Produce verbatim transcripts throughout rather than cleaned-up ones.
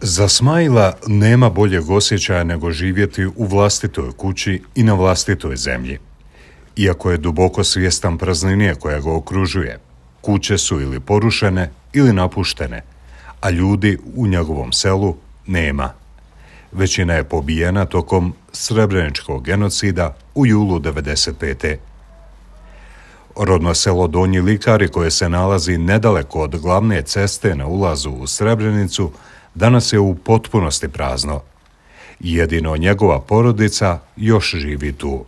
Za Smajla nema boljeg osjećaja nego živjeti u vlastitoj kući i na vlastitoj zemlji. Iako je duboko svjestan praznine koja ga okružuje, kuće su ili porušene ili napuštene, a ljudi u njegovom selu nema. Većina je pobijena tokom Srebreničkog genocida u julu devedeset pete. Rodno selo Donji Likari, koje se nalazi nedaleko od glavne ceste na ulazu u Srebrenicu, danas je u potpunosti prazno. Jedino njegova porodica još živi tu.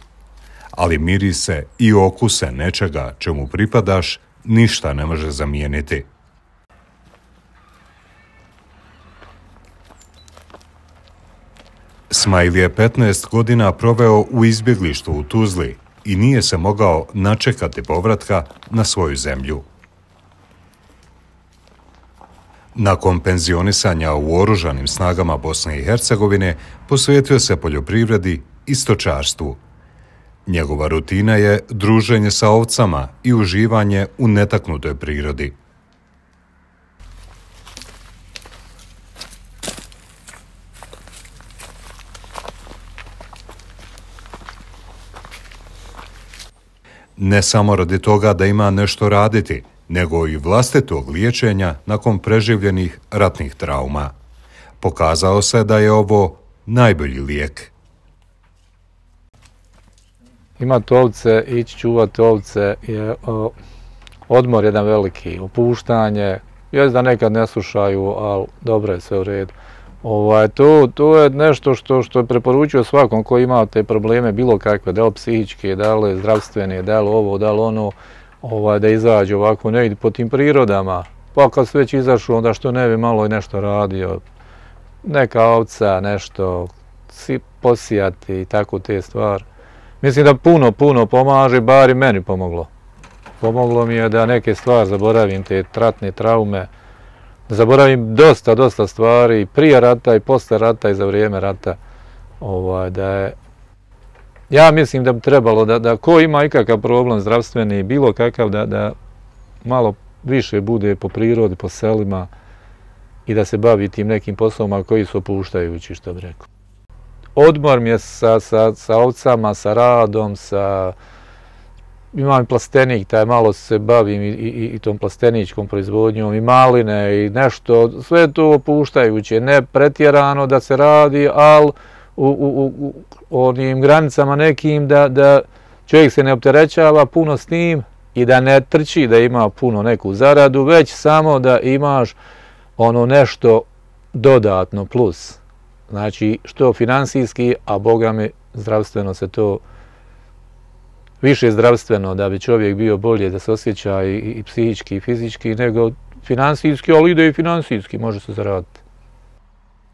Ali mirise i okuse nečega čemu pripadaš ništa ne može zamijeniti. Smajl je petnaest godina proveo u izbjeglištvu u Tuzli i nije se mogao načekati povratka na svoju zemlju. Nakon penzionisanja u oružanim snagama Bosne i Hercegovine posvetio se poljoprivredi i stočarstvu. Njegova rutina je druženje sa ovcama i uživanje u netaknutoj prirodi. Ne samo radi toga da ima nešto raditi, nego i vlastitog liječenja nakon preživljenih ratnih trauma. Pokazao se da je ovo najbolji lijek. Imati ovce, ići čuvati ovce je o, odmor jedan veliki, opuštanje. Jest da nekad ne slušaju, ali dobro je sve u redu. Ovaj, to, to je nešto što, što je preporučio svakom ko ima te probleme, bilo kakve, da li psihičke, da li zdravstvene, da li ovo, da li ono, ovaj, da izađe ovako negdje po tim prirodama. Pa kad se već izašao, onda što ne bi malo i nešto radio. Neka ovca, nešto posijati i tako te stvari. Mislim da puno, puno pomaže, bar i meni pomoglo. Pomoglo mi je da neke stvari zaboravim, te ratne traume. Zaboravim dosta, dosta stvari, prije rata i posle rata i za vrijeme rata. Ovaj, da je, ja mislim da bi trebalo da, da ko ima ikakav problem zdravstveni, bilo kakav, da, da malo više bude po prirodi, po selima i da se bavi tim nekim poslovima koji su opuštajući, što bi rekao. Odmor mi je sa, sa, sa ovcama, sa radom, sa... Imam i plastenik, taj malo se bavim i, i, i tom plasteničkom proizvodnjom, i maline i nešto, sve to opuštajuće, ne pretjerano da se radi, ali u, u, u, u onim granicama nekim da, da čovjek se ne opterećava puno s tim i da ne trči da ima puno neku zaradu, već samo da imaš ono nešto dodatno plus. Znači, što finansijski, a Boga mi zdravstveno se to više zdravstveno, da bi čovjek bio bolje, da se osjeća i, i psihički i fizički, nego finansijski, ali ide i finansijski, može se zaraditi.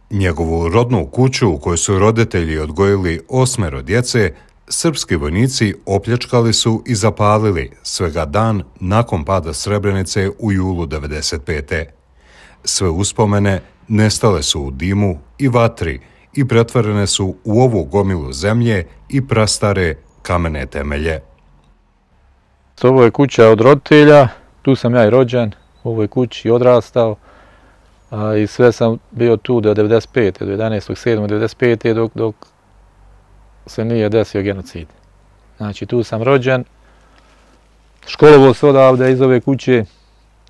Njegovu rodnu kuću u kojoj su roditelji odgojili osmero djece, srpski vojnici opljačkali su i zapalili svega dan nakon pada Srebrenice u julu devedeset pete. Sve uspomene nestale su u dimu i vatri i pretvorene su u ovu gomilu zemlje i prastare kamene temelje. Ovo je kuća od roditelja, tu sam ja i rođen, u ovoj kući odrastao a, i sve sam bio tu do devedeset pete, do jedanaestog sedmog devedeset pete dok, dok se nije desio genocid. Znači tu sam rođen, školovao se odavde iz ove kuće,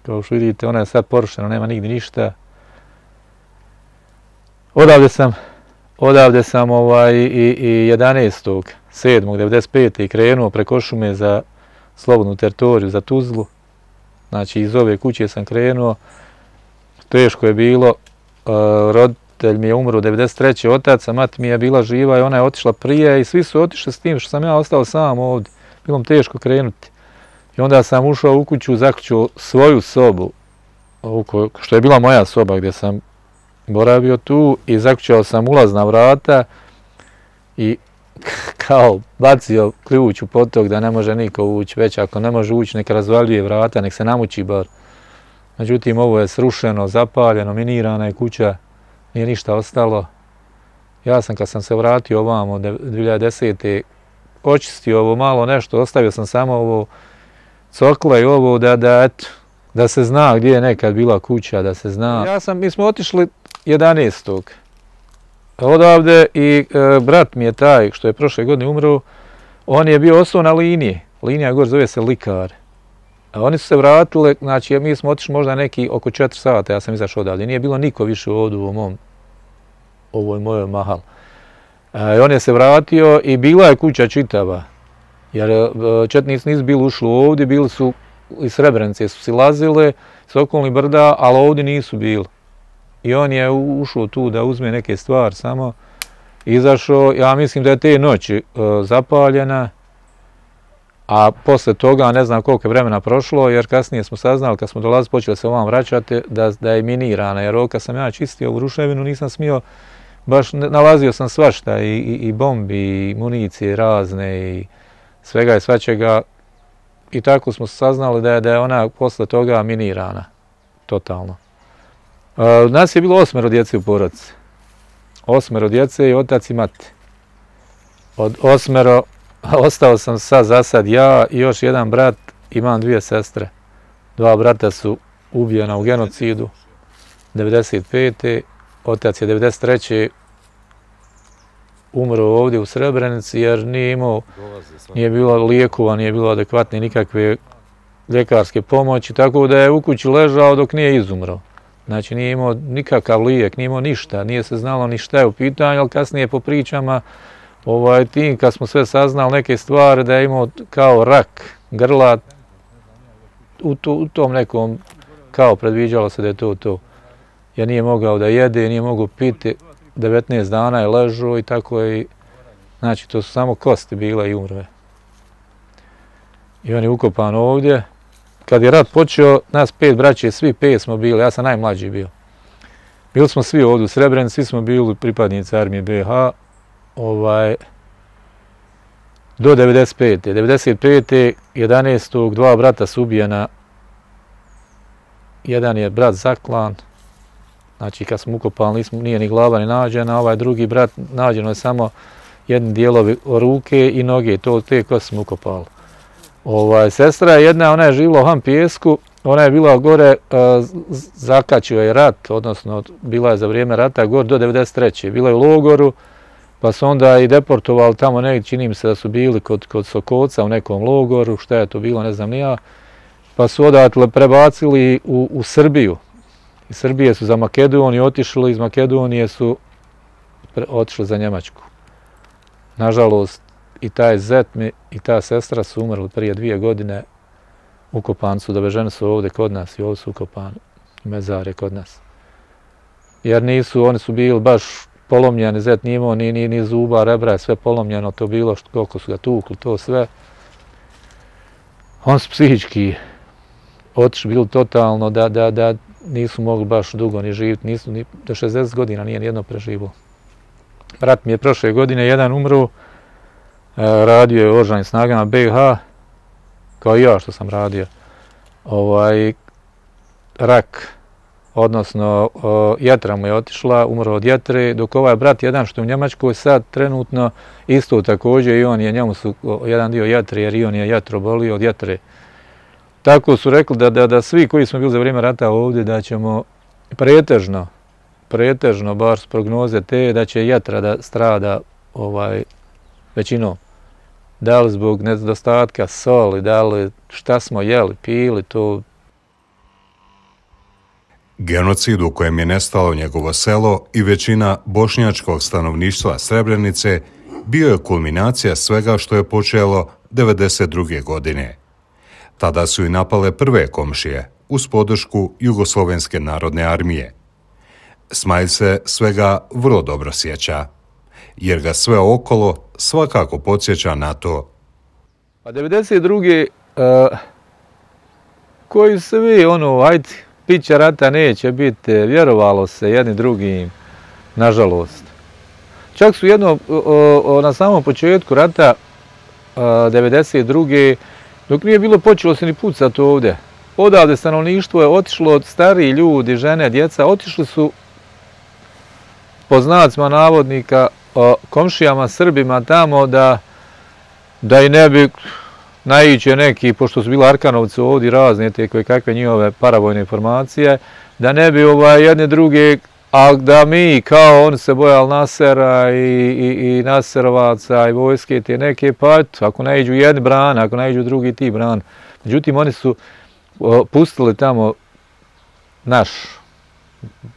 kao što vidite ona je sad porušena, nema nigdje ništa. Odavde sam, odavde sam ovaj, i, i jedanaestog sedmog devedeset pete krenuo preko šume za slobodnu teritoriju, za Tuzlu. Znači iz ove kuće sam krenuo. Teško je bilo. Uh, roditelj mi je umro devedeset treće otac, a mati mi je bila živa i ona je otišla prije i svi su otišli s tim što sam ja ostao sam ovdje. Bilo mi teško krenuti. I onda sam ušao u kuću, zaključio svoju sobu, što je bila moja soba gdje sam boravio tu, i zaključao sam ulazna vrata i kao bacio ključ u potok da ne može niko ući, već ako ne može ući neka razvaljuje vrata, nek se namuči bar. Međutim, ovo je srušeno, zapaljeno, minirana je kuća, nije ništa ostalo. Ja sam kad sam se vratio ovamo dvije hiljade desete očistio ovo malo nešto, ostavio sam samo ovo cokle i ovo da, da eto, da se zna gdje je nekad bila kuća, da se zna. Ja sam, mi smo otišli jedanaestog odavde i e, brat mi je taj što je prošle godine umro, on je bio ostao na liniji. Linija gore zove se Likar. A oni su se vratili, znači mi smo otišli možda neki oko četiri sata, ja sam izašao odavde. Nije bilo niko više ovdje u mom, ovoj mojoj mahal. E, on je se vratio i bila je kuća čitava. Jer e, četnici nisu bili ušli ovdje, bili su iz Srebrenice su silazile s okolnih brda, ali ovdje nisu bili. I on je ušao tu da uzme neke stvari samo, izašao, ja mislim da je te noći uh, zapaljena, a posle toga ne znam koliko je vremena prošlo, jer kasnije smo saznali, kad smo dolazili, počeli se ovam vraćati, da, da je minirana, jer ovo kad sam ja čistio u ruševinu nisam smio, baš nalazio sam svašta, i, i, i bombi, i municije razne, i svega i svačega, i tako smo saznali da je, da je ona posle toga minirana, totalno. Uh, nas je bilo osmero djece u porodici. Osmero djece i otac i mati. Od osmero ostao sam sad za sad ja i još jedan brat, imam dvije sestre. Dva brata su ubijena u genocidu devedeset pete Otac je devedeset treće umro ovdje u Srebrenici jer nije imao, nije bilo lijekova, nije bilo adekvatne nikakve ljekarske pomoći, tako da je u kući ležao dok nije izumro. Znači nije imao nikakav lijek, nije imao ništa, nije se znalo ni šta je u pitanju, ali kasnije po pričama ovaj, tim kad smo sve saznali neke stvari da je imao kao rak grla, u, to, u tom nekom kao predviđalo se da je to to. Jer nije mogao da jede, nije mogao piti, devetnaest dana je ležao i tako je, znači to su samo kosti bile i umrve. I on je ukopan ovdje. Kad je rat počeo, nas pet braće, svi pet smo bili, ja sam najmlađi bio. Bili smo svi ovdje u Srebrenici, svi smo bili pripadnici armije be ha, ovaj, do devedeset pete devedeset pete jedanaestog dva brata su ubijena. Jedan je brat zaklan, znači kad smo ukopali, nismo, nije ni glava ni nađena, ovaj drugi brat nađeno je samo jedni dijelovi ruke i noge, to te kosti smo ukopali. Ovaj, sestra je jedna, ona je živjela u Ham Pijesku, ona je bila gore, uh, zakačio je rat, odnosno bila je za vrijeme rata gore do devedeset treće Bila je u logoru, pa su onda i deportovali tamo negdje, čini mi se da su bili kod, kod Sokoca u nekom logoru, šta je to bilo, ne znam ni ja, pa su odatle prebacili u, u Srbiju. Iz Srbije su za Makedoniju otišli, iz Makedonije su pre, otišli za Njemačku. Nažalost, i taj zet mi i ta sestra su umrli prije dvije godine, ukopani su, doveženi su ovdje kod nas i ovdje su ukopani, mezar je kod nas. Jer nisu, oni su bili baš polomljeni, zet nije imao ni, ni, ni zuba, rebra je sve polomljeno, to bilo što, koliko su ga tukli, to sve. Oni su psihički otišli, bili totalno da, da, da nisu mogli baš dugo ni živjeti, nisu ni do šezdeset godina nije nijedno preživo. Brat mi je prošle godine jedan umro, radio je u oružanim snagama be ha, kao i ja što sam radio. Ovaj, rak, odnosno o, jetra mu je otišla, umro od jetre, dok ovaj brat jedan što je u Njemačkoj sad trenutno isto također i on je, njemu su o, jedan dio jetre jer i on je jetro bolio od jetre. Tako su rekli da, da, da svi koji smo bili za vrijeme rata ovdje da ćemo pretežno, pretežno bar s prognoze te da će jetra da strada ovaj, većinom. Da li zbog nedostatka soli, da li šta smo jeli, pili, to... Genocid u kojem je nestalo njegovo selo i većina bošnjačkog stanovništva Srebrenice bio je kulminacija svega što je počelo devedeset druge godine. Tada su i napale prve komšije uz podršku Jugoslovenske narodne armije. Smajl se svega vrlo dobro sjeća, jer ga sve okolo svakako podsjeća na to. Pa devedeset druge Uh, koji svi, ono, ajde, pića rata neće biti, vjerovalo se jednim drugim, nažalost. Čak su jedno, o, o, na samom početku rata uh, devedeset druge dok nije bilo počelo se ni pucati ovdje. Odavde stanovništvo je otišlo od stariji ljudi, žene, djeca, otišli su po znacima navodnika o komšijama Srbima tamo da, da i ne bi naići neki, pošto su bili Arkanovci ovdje razne te koje kakve njihove paravojne informacije, da ne bi ovaj, jedne druge, a da mi kao oni se bojali Nasera i, i, i Naserovaca i vojske te neke, pa eto, ako naiđu jedni bran, ako naiđu drugi ti bran. Međutim, oni su o, pustili tamo naš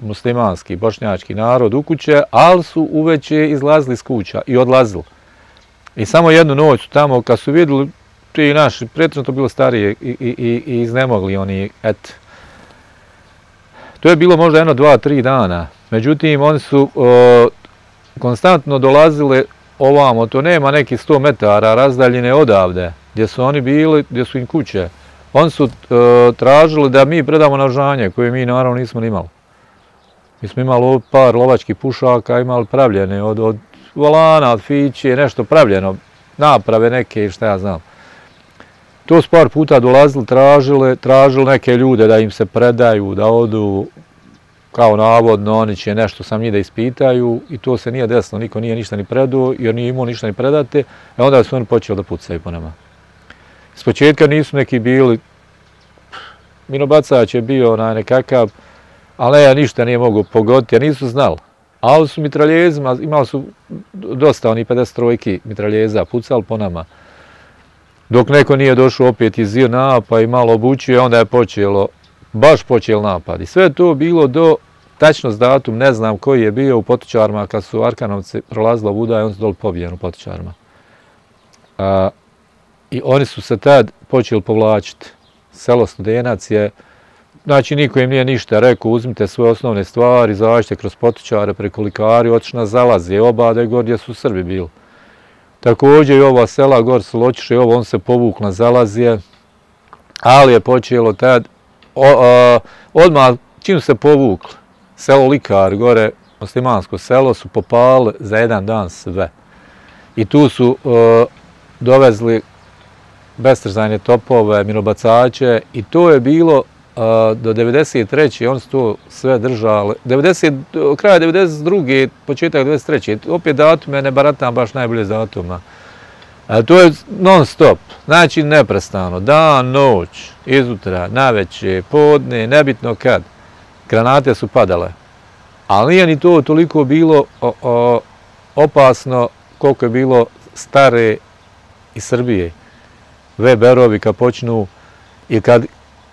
muslimanski, bošnjački narod u kuće, ali su uveće izlazili iz kuća i odlazili. I samo jednu noć su tamo, kad su vidjeli, ti naši, pretežno to bilo starije i, i, i, i iznemogli oni, et. To je bilo možda jedno, dva, tri dana. Međutim, oni su o, konstantno dolazili ovamo, to nema nekih sto metara razdaljine odavde, gdje su oni bili, gdje su im kuće. Oni su o, tražili da mi predamo naoružanje, koje mi naravno nismo imali. Mi smo imali par lovačkih pušaka, imali pravljene od, od volana, od fiće, nešto pravljeno, naprave neke i šta ja znam. To su par puta dolazili, tražili, tražili neke ljude da im se predaju, da odu, kao navodno, oni će nešto sam njih da ispitaju i to se nije desilo, niko nije ništa ni predao, jer nije imao ništa ni predate, a onda su oni počeli da pucaju po nama. S početka nisu neki bili, minobacač je bio onaj nekakav, ali ja ništa nije mogu pogoditi, jer nisu znali. Ali su mitraljezima, imali su dosta, oni pedeset trojki mitraljeza, pucali po nama. Dok neko nije došao opet iz JNA pa i malo obučio, onda je počelo, baš počeo napad. I sve je to bilo do, tačno s datum, ne znam koji je bio u Potočarima, kad su Arkanovci prolazili ovuda i oni su doli pobijeni u Potočarima. A, I oni su se tad počeli povlačiti. Selo Studenac je, znači niko im nije ništa rekao, uzmite svoje osnovne stvari, izađite kroz Potočare, preko Likari, otišli na Zalazje, Obade, gor gdje su Srbi bili. Također i ova sela, gor su Ločiše i ovo, on se povuk na Zalazje, ali je počelo tad, o, o, odmah čim se povukli, selo Likar, gore, muslimansko selo, su popali za jedan dan sve. I tu su o, dovezli bestrzajne topove, minobacače i to je bilo a, do devedeset treće oni su to sve držali. devedeset, kraja devedeset druge početak devedeset treće opet datume ne baratam baš najbolje s datuma. A to je non stop, znači neprestano, dan, noć, izutra, naveče, podne, nebitno kad. Granate su padale. Ali nije ni to toliko bilo o, o, opasno koliko je bilo stare iz Srbije. Weberovi kad počnu i kad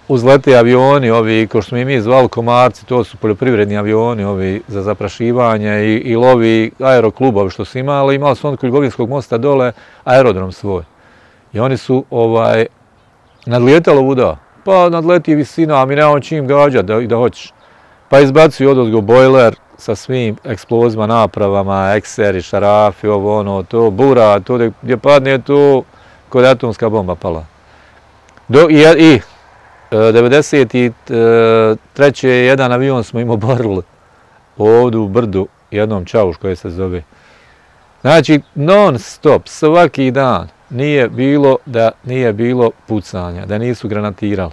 uzlete avioni, ovi, ko što smo i mi zvali komarci, to su poljoprivredni avioni, ovi za zaprašivanje i, i lovi aeroklubovi što su imali, imali su on kod Ljubovinskog mosta dole aerodrom svoj. I oni su ovaj, nadlijetalo vuda, pa nadleti visina, a mi nemamo čim gađati da, da hoćeš. Pa izbacuju odozgo bojler sa svim eksplozima, napravama, ekseri, šarafi, ovo ono, to, bura, to gdje padne to, kod atomska bomba pala. Do, i, i devedeset treće jedan avion smo im oborili ovdje u brdu, jednom Čauš koje se zove. Znači, non stop, svaki dan nije bilo da nije bilo pucanja, da nisu granatirali.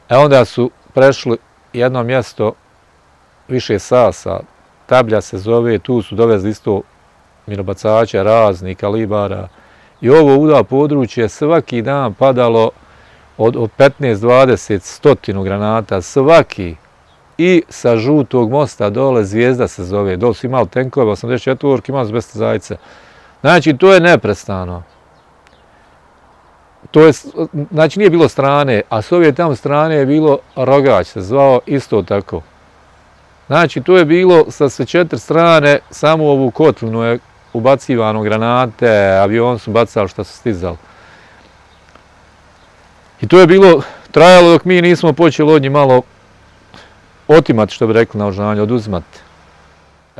E onda su prešli jedno mjesto više Sasa, Tablja se zove, tu su dovezli isto minobacača raznih kalibara. I ovo uda područje svaki dan padalo od, od petnaest dvadeset stotinu granata, svaki. I sa žutog mosta dole Zvijezda se zove, dole su imali tenkove, osamdeset četvorke, imali su bez zajce. Znači, to je neprestano. To je, znači, nije bilo strane, a s ove tamo strane je bilo Rogać, se zvao isto tako. Znači, to je bilo sa sve četiri strane, samo ovu kotlinu je ubacivano granate, avion su bacali što su stizali. I to je bilo, trajalo dok mi nismo počeli od njih malo otimati, što bi rekli, naoružanje, oduzimati.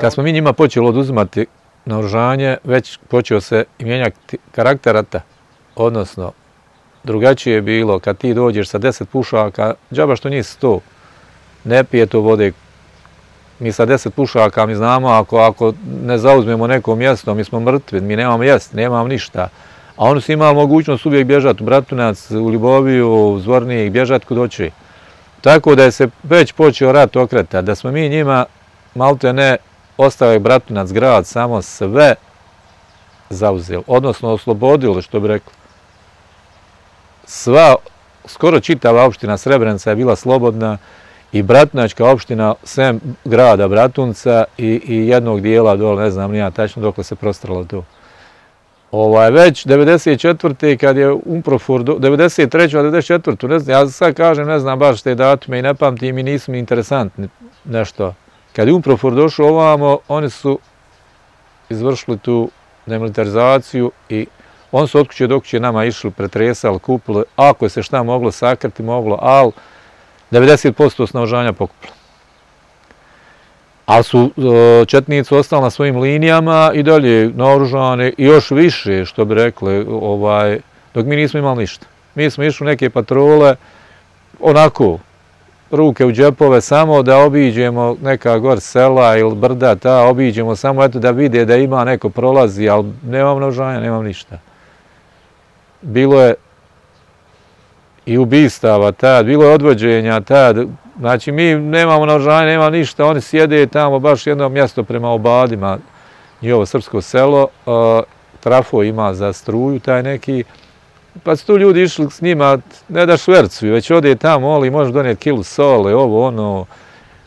Kad smo mi njima počeli oduzimati naoružanje, već počeo se i mijenjati karakter rata. Odnosno, drugačije je bilo kad ti dođeš sa deset pušaka, džaba što njih sto, ne pije to vode. Mi sa deset pušaka, mi znamo, ako, ako ne zauzmemo neko mjesto, mi smo mrtvi, mi nemamo jesti, nemamo ništa. A oni su imali mogućnost uvijek bježati u Bratunac, u Ljuboviju, u Zvornijeg, bježati kod oči. Tako da je se već počeo rat okretati, da smo mi njima, malte ne, ostavili Bratunac grad, samo sve zauzeli, odnosno oslobodili, što bi rekli. sva, skoro čitava opština Srebrenica je bila slobodna i Bratunačka opština, sem grada Bratunca i, i jednog dijela dole, ne znam nija tačno dokle se prostralo to. Ovaj, već devedeset četvrte kad je Umprofor, devedeset treće devedeset četvrte ne znam, ja sad kažem, ne znam baš te datume i ne pamtim i nisu mi interesantni nešto. Kad je Umprofor došao ovamo, oni su izvršili tu demilitarizaciju i oni su od kuće do kuće nama išli, pretresali, kupili, ako se šta moglo sakriti, moglo, ali devedeset posto naoružanja pokupili. Ali su četnici ostali na svojim linijama i dalje naoružane i još više, što bi rekli, ovaj, dok mi nismo imali ništa. Mi smo išli u neke patrole, onako, ruke u džepove, samo da obiđemo neka gor sela ili brda, ta, obiđemo samo eto da vide da ima neko prolazi, ali nemam naoružanja, nemam ništa. Bilo je i ubistava tad, bilo je odvođenja tad, znači mi nemamo naoružanja, nemamo ništa, oni sjede tamo baš jedno mjesto prema Obadima, njihovo srpsko selo, trafo ima za struju taj neki, pa su tu ljudi išli s njima, ne da švercuju, već ode tamo, oli, može donijeti kilu sole, ovo, ono,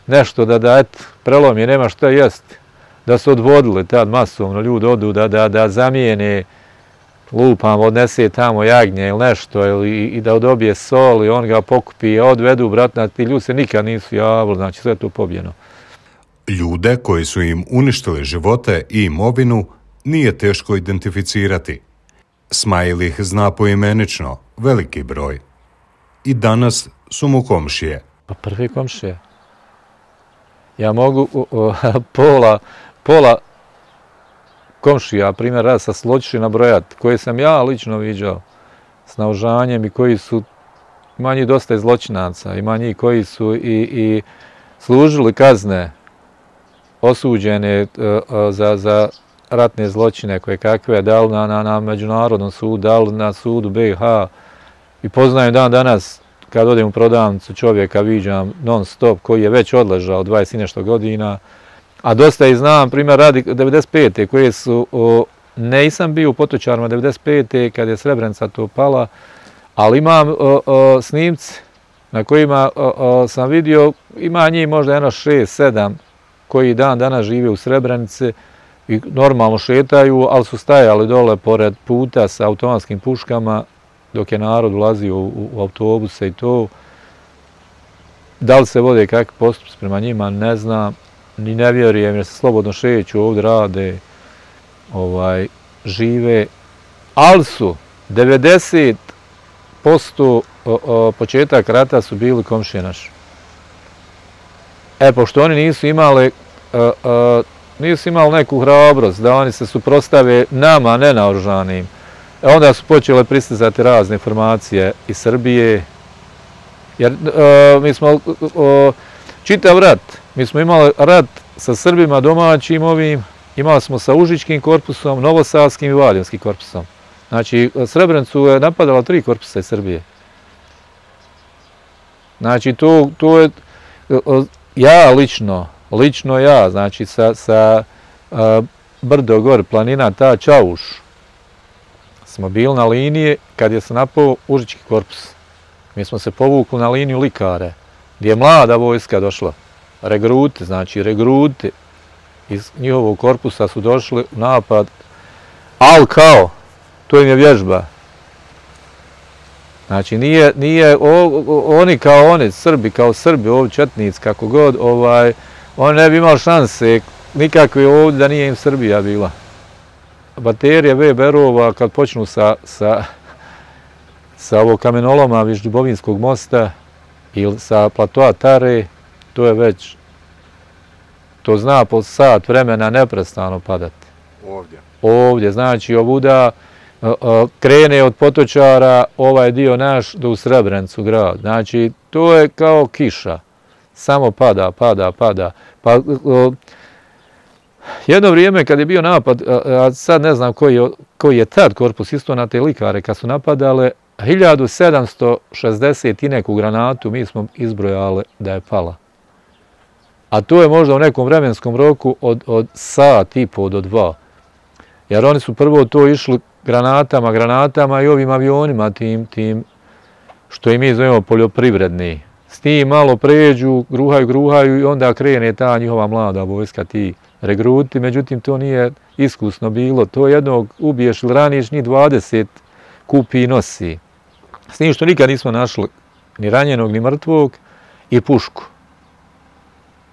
nešto da, da, et, prelomi, nema šta jest, da su odvodili tad masovno, ljudi odu da, da, da zamijene, lupam, odnese tamo jagnje ili nešto, ili, i da dobije sol i on ga pokupi, odvedu, bratna, ti ljudi se nikad nisu javili, znači sve je tu pobjeno. Ljude koji su im uništili živote i imovinu nije teško identificirati. Smajl ih zna poimenično, veliki broj. I danas su mu komšije. Pa prvi komšije. Ja mogu o, o, pola, pola komšija, primjer rada sa Sloćiši nabrojati, koje sam ja lično viđao s naoružanjem i koji su, ima njih dosta i zločinaca, ima njih koji su i, i služili kazne osuđene uh, za, za ratne zločine koje kakve, da li na, na, na međunarodnom sudu, da li na sudu B iH. I poznajem dan danas, kad odem u prodavnicu čovjeka, viđam non stop, koji je već odležao dvadeset i nešto godina, a dosta i znam, primjer radi devedeset pete koje su, o, nisam bio u Potočarima devedeset pete kad je Srebrenica to pala, ali imam o, o, snimci na kojima o, o, sam vidio, ima njih možda jedno šest, sedam koji dan danas žive u Srebrenici i normalno šetaju, ali su stajali dole pored puta sa automatskim puškama dok je narod ulazio u, u autobuse i to. Da li se vode kakvi postupci prema njima, ne znam. Ni ne vjerujem jer se slobodno šeću, ovdje rade, ovaj, žive, ali su devedeset posto o, o, početak rata su bili komšije naši. E, pošto oni nisu imali, o, o, nisu imali neku hrabrost da oni se suprotstave nama nenaoružanim, onda su počele pristizati razne informacije iz Srbije, jer o, mi smo o, čitav rat, mi smo imali rat sa Srbima domaćim ovim, imali smo sa Užičkim korpusom, Novosadskim i Valjevskim korpusom. Znači, Srebrenicu je napadala tri korpusa iz Srbije. Znači, to, to je, ja lično, lično ja, znači, sa, sa a, brdo gore, planina, ta Čauš, smo bili na liniji kad je se napao Užički korpus. Mi smo se povukli na liniju Likare, gdje je mlada vojska došla. Regruti, znači regruti iz njihovog korpusa su došli u napad, ali kao, to im je vježba. Znači nije, nije o, o, oni kao oni, Srbi kao Srbi, ovdje četnici, kako god, ovaj, oni ne bi imali šanse nikakve ovdje da nije im Srbija bila. Baterije ve be erova kad počnu sa, sa, sa ovog kamenoloma viš Dubovinskog mosta ili sa platoa Tare, to je već, to zna po sat vremena neprestano padati. Ovdje? Ovdje, znači ovuda krene od Potočara ovaj dio naš do u Srebrenicu grad. Znači, to je kao kiša. Samo pada, pada, pada. Pa, jedno vrijeme kad je bio napad, a sad ne znam koji je, koji je tad korpus, isto na te Likare, kad su napadale, hiljadu sedamsto šezdeset i neku granatu mi smo izbrojali da je pala. A to je možda u nekom vremenskom roku od, od sat i po do dva. Jer oni su prvo to išli granatama, granatama i ovim avionima, tim, tim što i mi zovemo poljoprivredni. S tim malo pređu, gruhaju, gruhaju i onda krene ta njihova mlada vojska, ti regruti, međutim to nije iskusno bilo. To jednog ubiješ ili raniš, njih dvadeset kupi i nosi. S tim što nikad nismo našli ni ranjenog, ni mrtvog i pušku.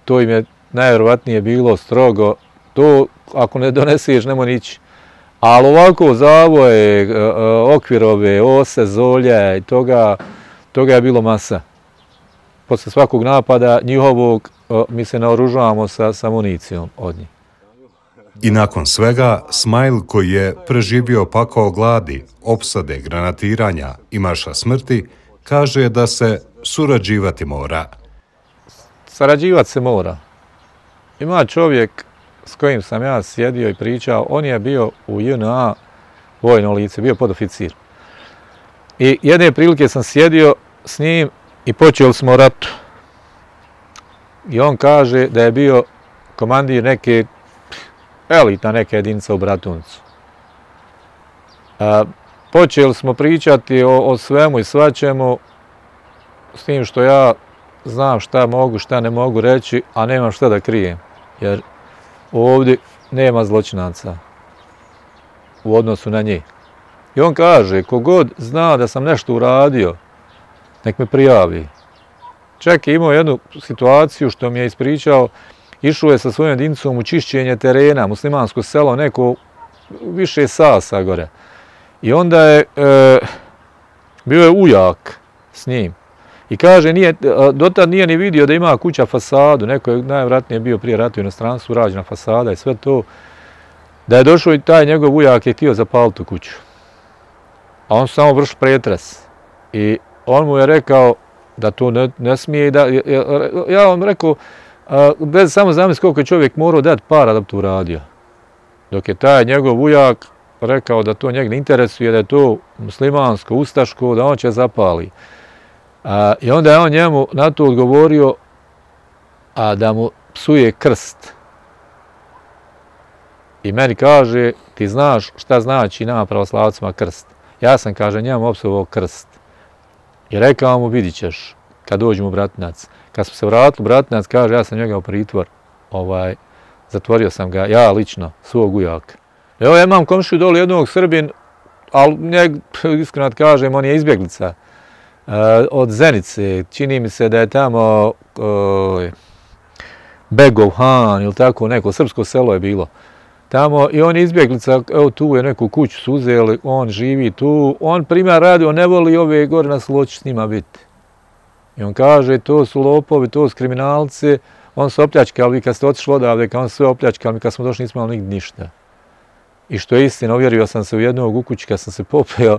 To im je najvjerovatnije bilo strogo. To ako ne doneseš, nemoj nići. Ali ovako zavoje, okvirove, ose, zolje i toga, toga je bilo masa. Posle svakog napada njihovog mi se naoružavamo sa, sa municijom od njih. I nakon svega, Smajl koji je preživio pakao gladi, opsade, granatiranja i marša smrti, kaže da se surađivati mora. Sarađivati se mora. Ima čovjek s kojim sam ja sjedio i pričao, on je bio u J N A vojno lice, bio podoficir. I jedne prilike sam sjedio s njim i počeli smo o ratu. I on kaže da je bio komandir neke elitna neka jedinica u Bratuncu. A, počeli smo pričati o, o svemu i svačemu, s tim što ja znam šta mogu, šta ne mogu reći, a nemam šta da krijem. Jer ovdje nema zločinaca u odnosu na njih. I on kaže, kogod zna da sam nešto uradio, nek me prijavi. Čak je imao jednu situaciju što mi je ispričao, išao je sa svojom jedinicom u čišćenje terena, muslimansko selo, neko više sasa gore. I onda je, e, bio je ujak s njim. I kaže, nije, dotad nije ni vidio da ima kuća fasadu, neko je najvratnije bio prije rata u inostranstvu, rađena fasada i sve to. Da je došao i taj njegov ujak je htio zapaliti tu kuću. A on samo vrši pretres. I on mu je rekao da to ne, ne smije. Da, ja vam rekao, bez samo zamisli koliko je čovjek morao dati para da bi to uradio. Dok je taj njegov ujak rekao da to njeg ne interesuje, da je to muslimansko, ustaško, da on će zapali. A, I onda je on njemu na to odgovorio a, da mu psuje krst. I meni kaže, ti znaš šta znači nama pravoslavcima krst. Ja sam, kaže, njemu opsovao krst. I rekao mu, vidit ćeš, kad dođemo u Bratinac. Kad smo se vratili u Bratinac, kaže, ja sam njega u pritvor. Ovaj, zatvorio sam ga, ja lično, svog ujaka. Evo, ja imam komšiju dole jednog Srbin, ali njeg, iskreno kažem, on je izbjeglica. Uh, od Zenice, čini mi se da je tamo uh, Begov Han ili tako neko, srpsko selo je bilo. Tamo i on je izbjeglica, evo tu je neku kuću su uzeli, on živi tu, on primjer radi, on ne voli ove gore na Sloći s njima biti. I on kaže, to su lopovi, to su kriminalci, on su opljačkali, kad ste otišli odavde, kad on sve opljačkali, kad smo došli nismo imali nigdje ništa. I što je istina, uvjerio sam se u jednog u kući kad sam se popeo,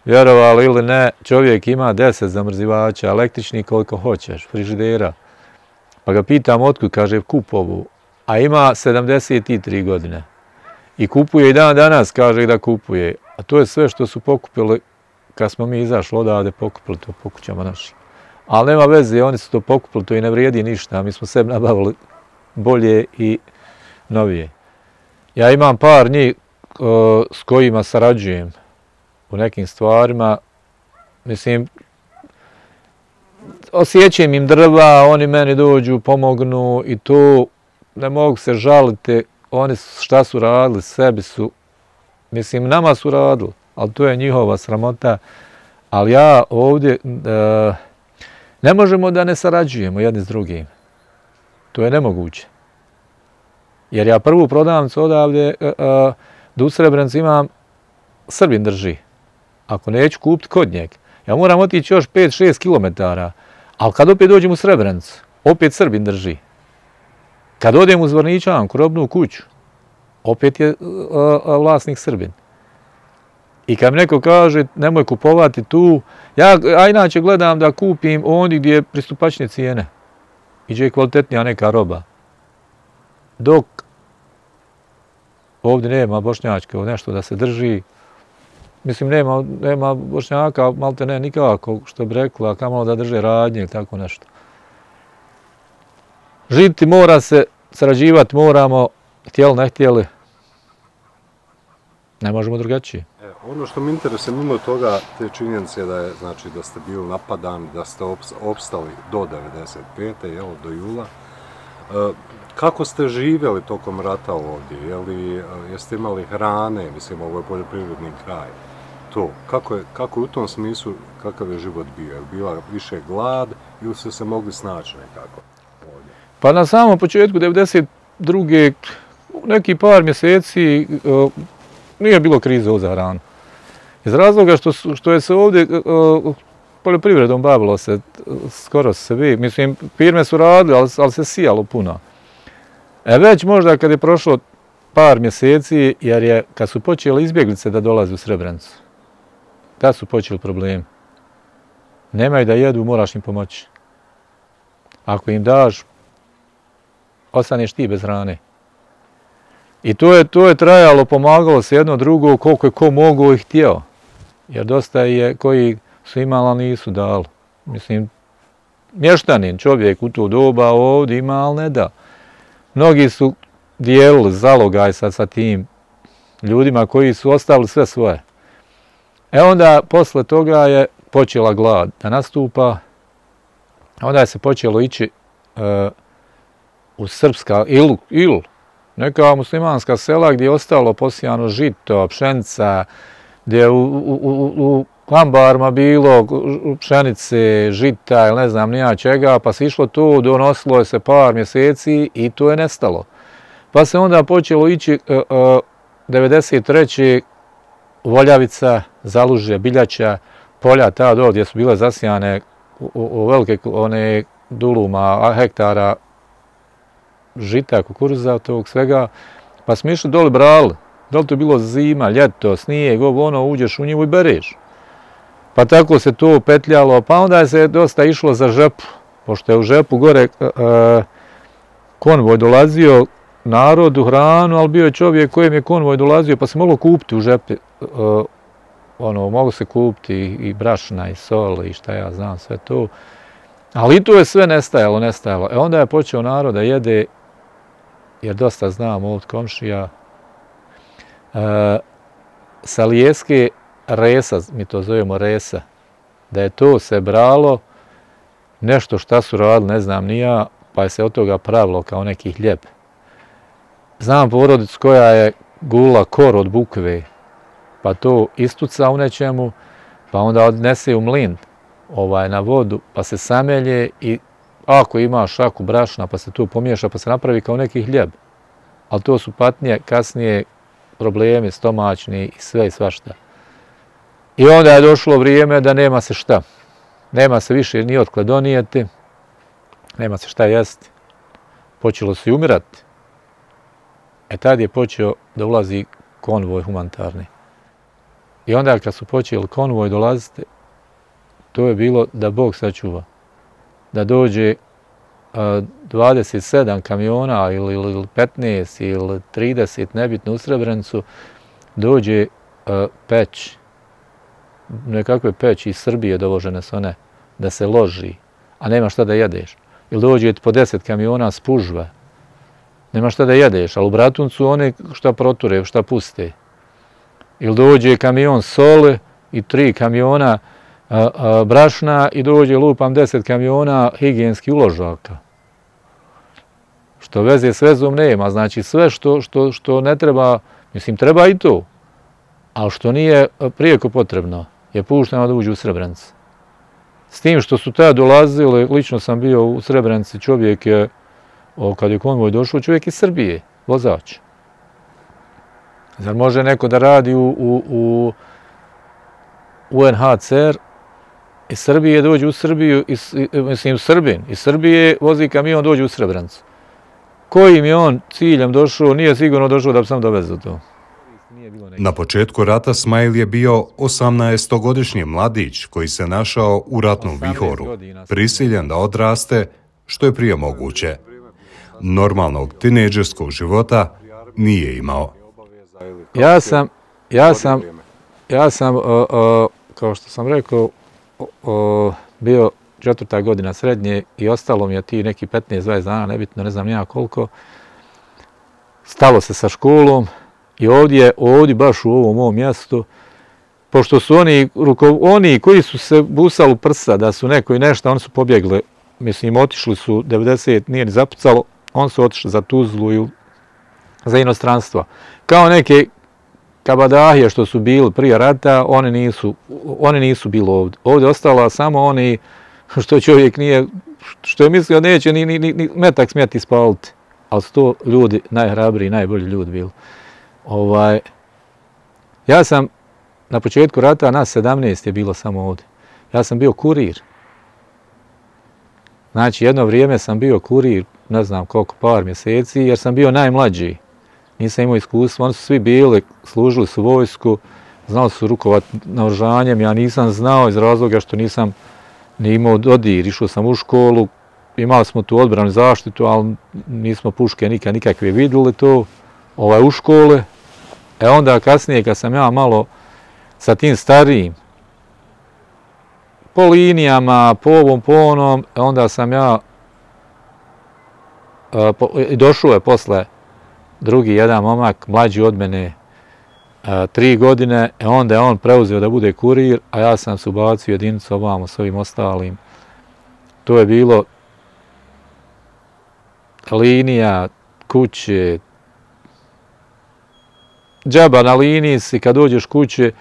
vjerovali ili ne, čovjek ima deset zamrzivača, električni koliko hoćeš, frižidera. Pa ga pitam otkud, kaže kupovu, a ima sedamdeset tri godine. I kupuje i dan danas, kaže da kupuje. A to je sve što su pokupili, kad smo mi izašli odavde, pokupili to po kućama našim. Ali nema veze, oni su to pokupili, to i ne vrijedi ništa, mi smo sebi nabavili bolje i novije. Ja imam par njih uh, s kojima sarađujem u nekim stvarima, mislim, osjećam im drva, oni meni dođu, pomognu i to, ne mogu se žaliti, oni šta su radili, sebi su, mislim, nama su radili, ali to je njihova sramota, ali ja ovdje, uh, ne možemo da ne sarađujemo jedni s drugim, to je nemoguće. Jer ja prvu prodavnicu odavde, uh, uh, da u Srebrenici imam, Srbin drži. Ako neću kupiti kod njeg, ja moram otići još pet šest kilometara, ali kad opet dođem u Srebrenicu, opet Srbin drži. Kad odem u Zvorničanku, robnu kuću, opet je uh, uh, vlasnik Srbin. I kad mi neko kaže nemoj kupovati tu, ja a inače gledam da kupim ondje gdje je pristupačne cijene i gdje je kvalitetnija neka roba. Dok ovdje nema bošnjačke, nešto da se drži, mislim nema, nema bošnjaka, malte ne nikako, što bi rekla, kamalo da drže radnje ili tako nešto. Živjeti mora se, sarađivati moramo, htjeli ne htjeli, ne možemo drugačije. Ono što mi interesuje, mimo toga, te činjenice da je, znači, da ste bili napadani, da ste opstali do devedeset pete. Jel, do jula. Kako ste živjeli tokom rata ovdje? Jeli, jeste imali hrane? Mislim, ovo je poljoprivredni kraj. To, kako je, kako je u tom smislu, kakav je život bio? Je bila više glad ili ste se mogli snaći nekako ovdje? Pa na samom početku devedeset druge neki par mjeseci uh, nije bilo krize za hranu. Iz razloga što, što je se ovdje uh, poljoprivredom bavilo se skoro sve. Mislim, firme su radile, ali, ali se sijalo puno. E već možda kad je prošlo par mjeseci, jer je kad su počeli izbjeglice da dolaze u Srebrenicu, da su počeli problemi. Nemaju da jedu, moraš im pomoći. Ako im daš, ostaneš ti bez hrane. I to je, to je trajalo, pomagalo se jedno drugo, koliko je ko mogao i htio. Jer dosta je koji su imali, ali nisu dali. Mislim, mještanin, čovjek u to doba ovdje ima, ali ne da. Mnogi su dijelili zalogaj sad sa tim ljudima koji su ostavili sve svoje. E onda, posle toga je počela glad da nastupa. Onda je se počelo ići uh, u srpska ili, ili neka muslimanska sela gdje je ostalo posijano žito, pšenica, gdje je u, u, u, u ambarima bilo pšenice, žita ili ne znam nija čega, pa se išlo to, donosilo je se par mjeseci i to je nestalo. Pa se onda počelo ići uh, uh, devedeset treće Voljavica, Zalužje, Biljača, polja ta do gdje su bile zasijane u, u, u velike one duluma, hektara žita, kukuruza, tog svega, pa smo išli dole brali. Da li to je bilo zima, ljeto, snijeg, ovo ono, uđeš u njivu i bereš. Pa tako se to petljalo, pa onda je se dosta išlo za Žepu, pošto je u Žepu gore uh, konvoj dolazio narodu, hranu, ali bio je čovjek kojem je konvoj dolazio, pa se moglo kupiti u Žepi, uh, ono, moglo se kupiti i, i brašna i sol i šta ja znam, sve to. Ali i to je sve nestajalo, nestajalo. E onda je počeo narod da jede, jer dosta znam od komšija, uh, sa lijeske resa, mi to zovemo resa, da je to se bralo, nešto šta su radili, ne znam ni ja, pa je se od toga pravilo kao neki hljeb. Znam porodicu koja je gula kor od bukve, pa to istuca u nečemu, pa onda odnese u mlin ovaj, na vodu, pa se samelje i ako ima šaku brašna, pa se tu pomiješa, pa se napravi kao neki hljeb. Ali to su patnje, kasnije problemi stomačni i sve i svašta. I onda je došlo vrijeme da nema se šta. Nema se više ni otkle donijeti, nema se šta jesti. Počelo se i umirati. E tad je počeo da ulazi konvoj humanitarni. I onda kad su počeli konvoj dolaziti, to je bilo da Bog sačuva. Da dođe uh, dvadeset sedam kamiona ili, ili petnaest ili trideset, nebitno u Srebrenicu, dođe uh, peć, nekakve peći iz Srbije dovožene su one, da se loži, a nema šta da jedeš. Ili dođe po deset kamiona spužva, nema šta da jedeš, ali u Bratuncu one šta proture, šta puste. Ili dođe kamion sole i tri kamiona a, a, brašna i dođe lupam deset kamiona higijenskih uložaka. Što veze s vezom nema, znači sve što, što, što ne treba, mislim treba i to, ali što nije prijeko potrebno je pušteno da uđe u Srebrenicu. S tim što su tada dolazili, lično sam bio u Srebrenici, čovjek je, o, kad je konvoj došao, čovjek iz Srbije, vozač. Zar može neko da radi u, u, u U N H C R iz Srbije dođe u Srbiju, iz, mislim Srbin, iz Srbije vozi kamion dođe u Srebrenicu. Kojim je on ciljem došao, nije sigurno došao da bi sam dovezao to. Na početku rata Smajl je bio osamnaestogodišnji mladić koji se našao u ratnom vihoru, prisiljen da odraste što je prije moguće. Normalnog tinejdžerskog života nije imao. Ja sam, ja sam, ja sam, o, o, kao što sam rekao, o, o, bio četvrta godina srednje i ostalo mi je ti neki petnaest dvadeset dana, nebitno, ne znam nija koliko. Stalo se sa školom i ovdje, ovdje baš u ovom mom mjestu pošto su oni, ruko, oni koji su se busali u prsa da su neko i nešto, oni su pobjegli, mislim, otišli su, devedeset nije ni zapucalo, oni su otišli za Tuzlu i za inostranstvo. Kao neke kabadahije što su bili prije rata, oni nisu, oni nisu bili ovdje. Ovdje ostala samo oni što čovjek nije, što je mislio neće ni, ni, ni metak smjeti ispaliti. Ali su to ljudi najhrabriji, najbolji ljudi bili. Ovaj, ja sam na početku rata, nas sedamnaest je bilo samo ovdje. Ja sam bio kurir. Znači, jedno vrijeme sam bio kurir, ne znam koliko, par mjeseci, jer sam bio najmlađi. Nisam imao iskustva, oni su svi bili, služili su vojsku, znali su rukovati naoružanjem, ja nisam znao iz razloga što nisam ni imao dodir, išao sam u školu, imali smo tu odbranu zaštitu, ali nismo puške nikad nikakve vidjeli to, ovaj, u škole. E onda kasnije kad sam ja malo sa tim starijim, po linijama, po ovom, po onom, onda sam ja, i došao je posle drugi jedan momak, mlađi od mene, tri godine, e onda je on preuzeo da bude kurir, a ja sam se ubacio jedinicu ovamo s ovim ostalim. To je bilo linija, kuće, džaba na liniji si, kad dođeš kuće,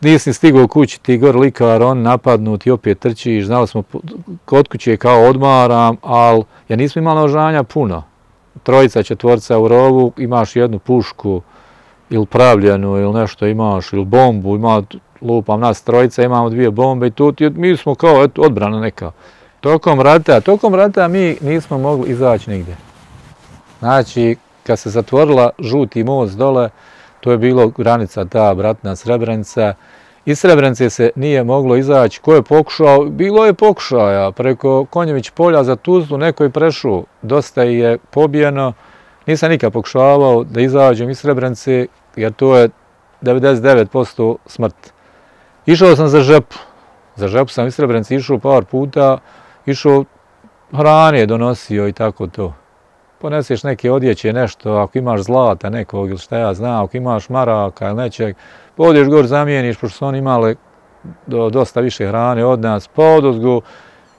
nisi stigao kući, ti gor likar, on napadnut i opet trčiš, znali smo, kod kuće kao odmaram, ali ja nismo imali naoružanja puno. Trojica, četvorca u rovu, imaš jednu pušku ili pravljenu ili nešto imaš, ili bombu, ima, lupam nas trojica, imamo dvije bombe i tu, mi smo kao eto, odbrana neka. Tokom rata, tokom rata mi nismo mogli izaći nigdje. Znači, kad se zatvorila žuti most dole, to je bilo granica ta bratna Srebrenica. Iz Srebrenice se nije moglo izaći. Ko je pokušao? Bilo je pokušaja. Preko Konjević polja za Tuzlu neko je prešao. Dosta je pobijeno. Nisam nikad pokušavao da izađem iz Srebrenice, jer to je devedeset devet posto smrt. Išao sam za Žepu. Za Žepu sam iz Srebrenice išao par puta. Išao hrane donosio i tako to. Poneseš neke odjeće, nešto, ako imaš zlata nekog ili šta ja znam, ako imaš maraka ili nečeg, odeš gor zamijeniš, pošto su oni imali do, dosta više hrane od nas, pa odozgo,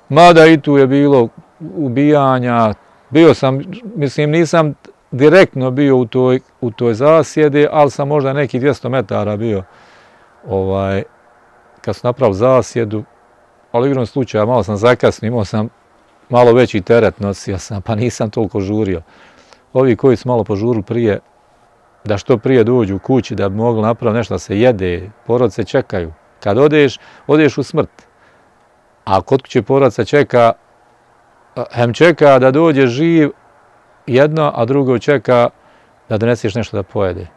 mada i tu je bilo ubijanja, bio sam, mislim nisam direktno bio u toj, u toj zasjedi, ali sam možda neki dvjesto metara bio, ovaj, kad sam napravio zasjedu, ali u igrom slučaja malo sam zakasnio, imao sam malo veći teret nosio sam, pa nisam toliko žurio. Ovi koji su malo požurili prije, da što prije dođu u kući, da bi mogli napraviti nešto da se jede, porodice čekaju. Kad odeš, odeš u smrt. A kod kuće porodica čeka, hem čeka da dođe živ jedno, a drugo čeka da doneseš nešto da pojede.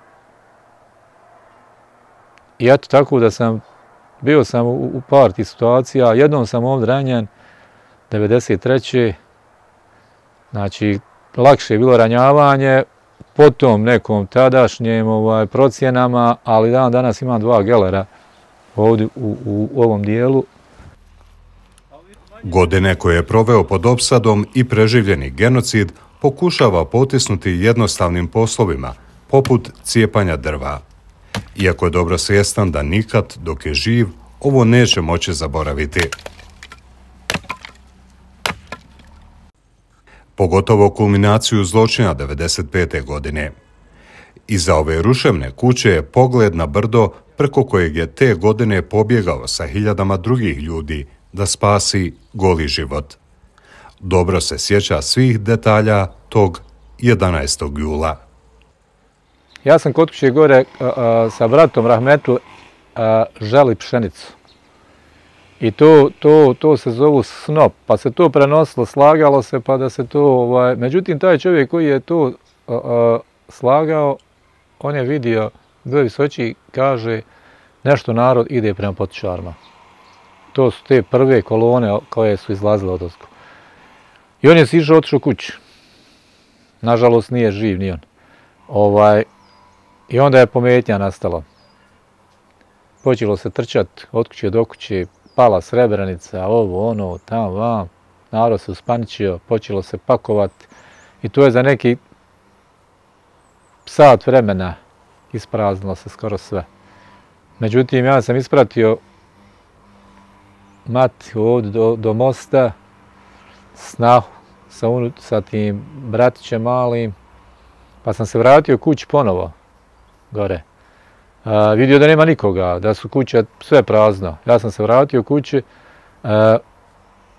I eto tako da sam, bio sam u, u par tih situacija, jednom sam ovdje ranjen, devedeset treće Znači, lakše je bilo ranjavanje, potom nekom tadašnjem ovaj, procjenama, ali dan danas imam dva gelera ovdje u, u, u ovom dijelu. Godine koje je proveo pod opsadom i preživljeni genocid pokušava potisnuti jednostavnim poslovima, poput cijepanja drva. Iako je dobro svjestan da nikad, dok je živ, ovo neće moći zaboraviti. Pogotovo kulminaciju zločina devedeset pete godine. Iza ove ruševne kuće je pogled na brdo preko kojeg je te godine pobjegao sa hiljadama drugih ljudi da spasi goli život. Dobro se sjeća svih detalja tog jedanaestog jula. Ja sam kod kuće gore a, a, sa bratom Rahmetu a, želi pšenicu. I to, to, to se zovu snop, pa se to prenosilo, slagalo se, pa da se to... Ovaj, međutim, taj čovjek koji je to a, a, slagao, on je vidio, bio visoči, kaže, nešto narod ide prema potičarima. To su te prve kolone koje su izlazile od ozgo. I on je sišao, otišao kući. Nažalost, nije živ ni on. Ovaj, I onda je pometnja nastala. Počelo se trčati od kuće do kuće, pala Srebrenica, ovo, ono, tam, vam. Narod se uspaničio, počelo se pakovati. I to je za neki sat vremena ispraznilo se skoro sve. Međutim, ja sam ispratio mati ovdje do, do mosta, snahu sa, unu, sa tim bratićem malim, pa sam se vratio kući ponovo, gore. A, vidio da nema nikoga, da su kuće sve prazno. Ja sam se vratio kući, a,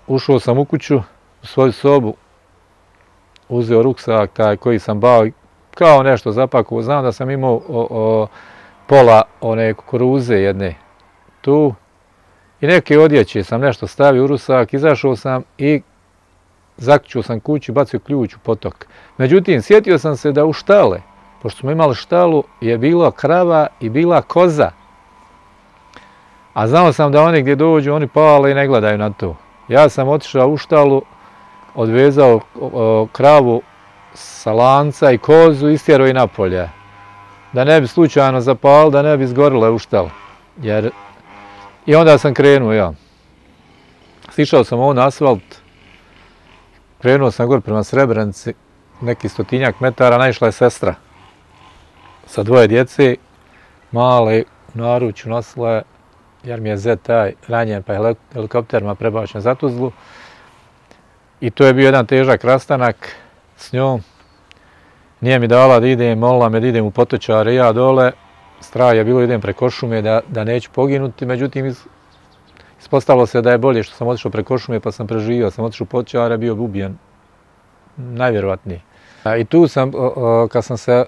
ušao sam u kuću, u svoju sobu, uzeo ruksak taj koji sam bao, kao nešto zapakovao. Znam da sam imao o, o, pola one kukuruze jedne tu i neke odjeće sam nešto stavio u rusak, izašao sam i zaključio sam kuću, bacio ključ u potok. Međutim, sjetio sam se da u štale, pošto smo imali štalu, je bila krava i bila koza. A znao sam da oni gdje dođu, oni pale i ne gledaju na to. Ja sam otišao u štalu, odvezao o, kravu sa lanca i kozu i istjerao i napolje. Da ne bi slučajno zapali, da ne bi izgorile u štalu. Jer... I onda sam krenuo ja. Sišao sam ovo na asfalt, krenuo sam gore prema Srebrenici, neki stotinjak metara, naišla je sestra sa dvoje djece, male, u naručju nosila je, jer mi je zet taj ranjen, pa je helikopterima prebačen za Tuzlu. I to je bio jedan težak rastanak s njom. Nije mi dala da idem, molila me da idem u Potočare, ja dole. Strah je bilo da idem preko šume, da, da neću poginuti, međutim ispostavilo se da je bolje što sam otišao preko šume pa sam preživio, sam otišao u Potočare, bio bi ubijen, najvjerovatnije. I tu sam, kad sam se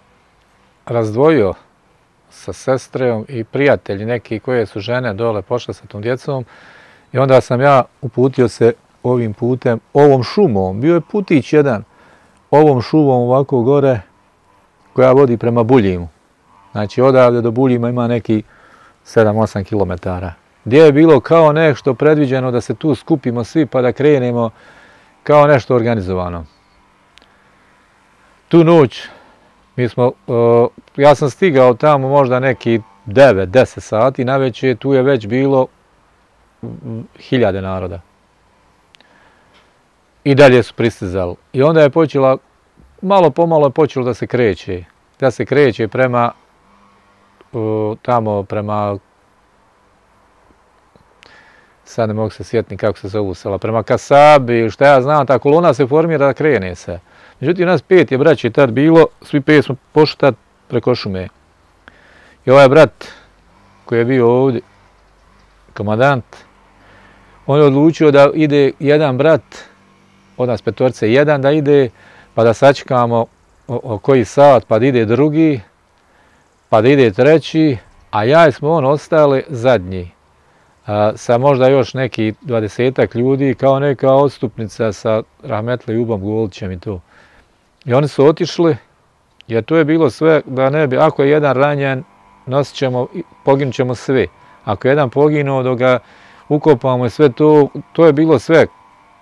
razdvojio sa sestrem i prijatelji neki koje su žene dole pošle sa tom djecom i onda sam ja uputio se ovim putem, ovom šumom, bio je putić jedan, ovom šumom ovako gore koja vodi prema Buljimu. Znači odavde do Buljima ima neki sedam osam kilometara. Gdje je bilo kao nešto predviđeno da se tu skupimo svi pa da krenemo kao nešto organizovano. Tu noć mi smo, uh, ja sam stigao tamo možda neki devet deset sati, navečer tu je već bilo hiljade naroda. I dalje su pristizali. I onda je počela, malo pomalo je počelo da se kreće. Da se kreće prema, uh, tamo prema, sad ne mogu se sjetiti kako se zovu sela, prema Kasabi, šta ja znam, ta kolona se formira da krene se. Međutim, nas pet je braći tad bilo, svi pet smo pošli tad preko šume. I ovaj brat koji je bio ovdje, komandant, on je odlučio da ide jedan brat, od nas petorce jedan da ide, pa da sačekamo o, o koji sat, pa da ide drugi, pa da ide treći, a ja i smo on ostali zadnji. A, sa možda još neki dvadesetak ljudi, kao neka odstupnica sa rahmetli Ubom Golićem i to. I oni su otišli, jer to je bilo sve da ne bi, ako je jedan ranjen, nosit ćemo, poginut ćemo svi. Ako je jedan poginuo, dok ga ukopamo i sve to, to je bilo sve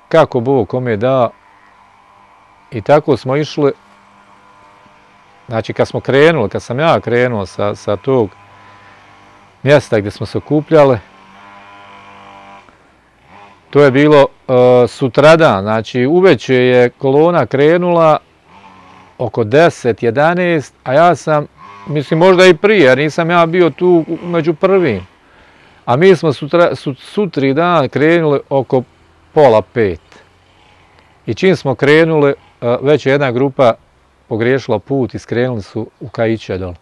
kako Bog kome da. I tako smo išli, znači kad smo krenuli, kad sam ja krenuo sa, sa tog mjesta gdje smo se okupljali, to je bilo uh, sutradan, znači uveče je kolona krenula oko deset jedanaest, a ja sam, mislim možda i prije, jer nisam ja bio tu među prvim. A mi smo sutra, su, sutri dan krenuli oko pola pet. I čim smo krenuli, uh, već je jedna grupa pogriješila put i skrenuli su u Kaiće dole.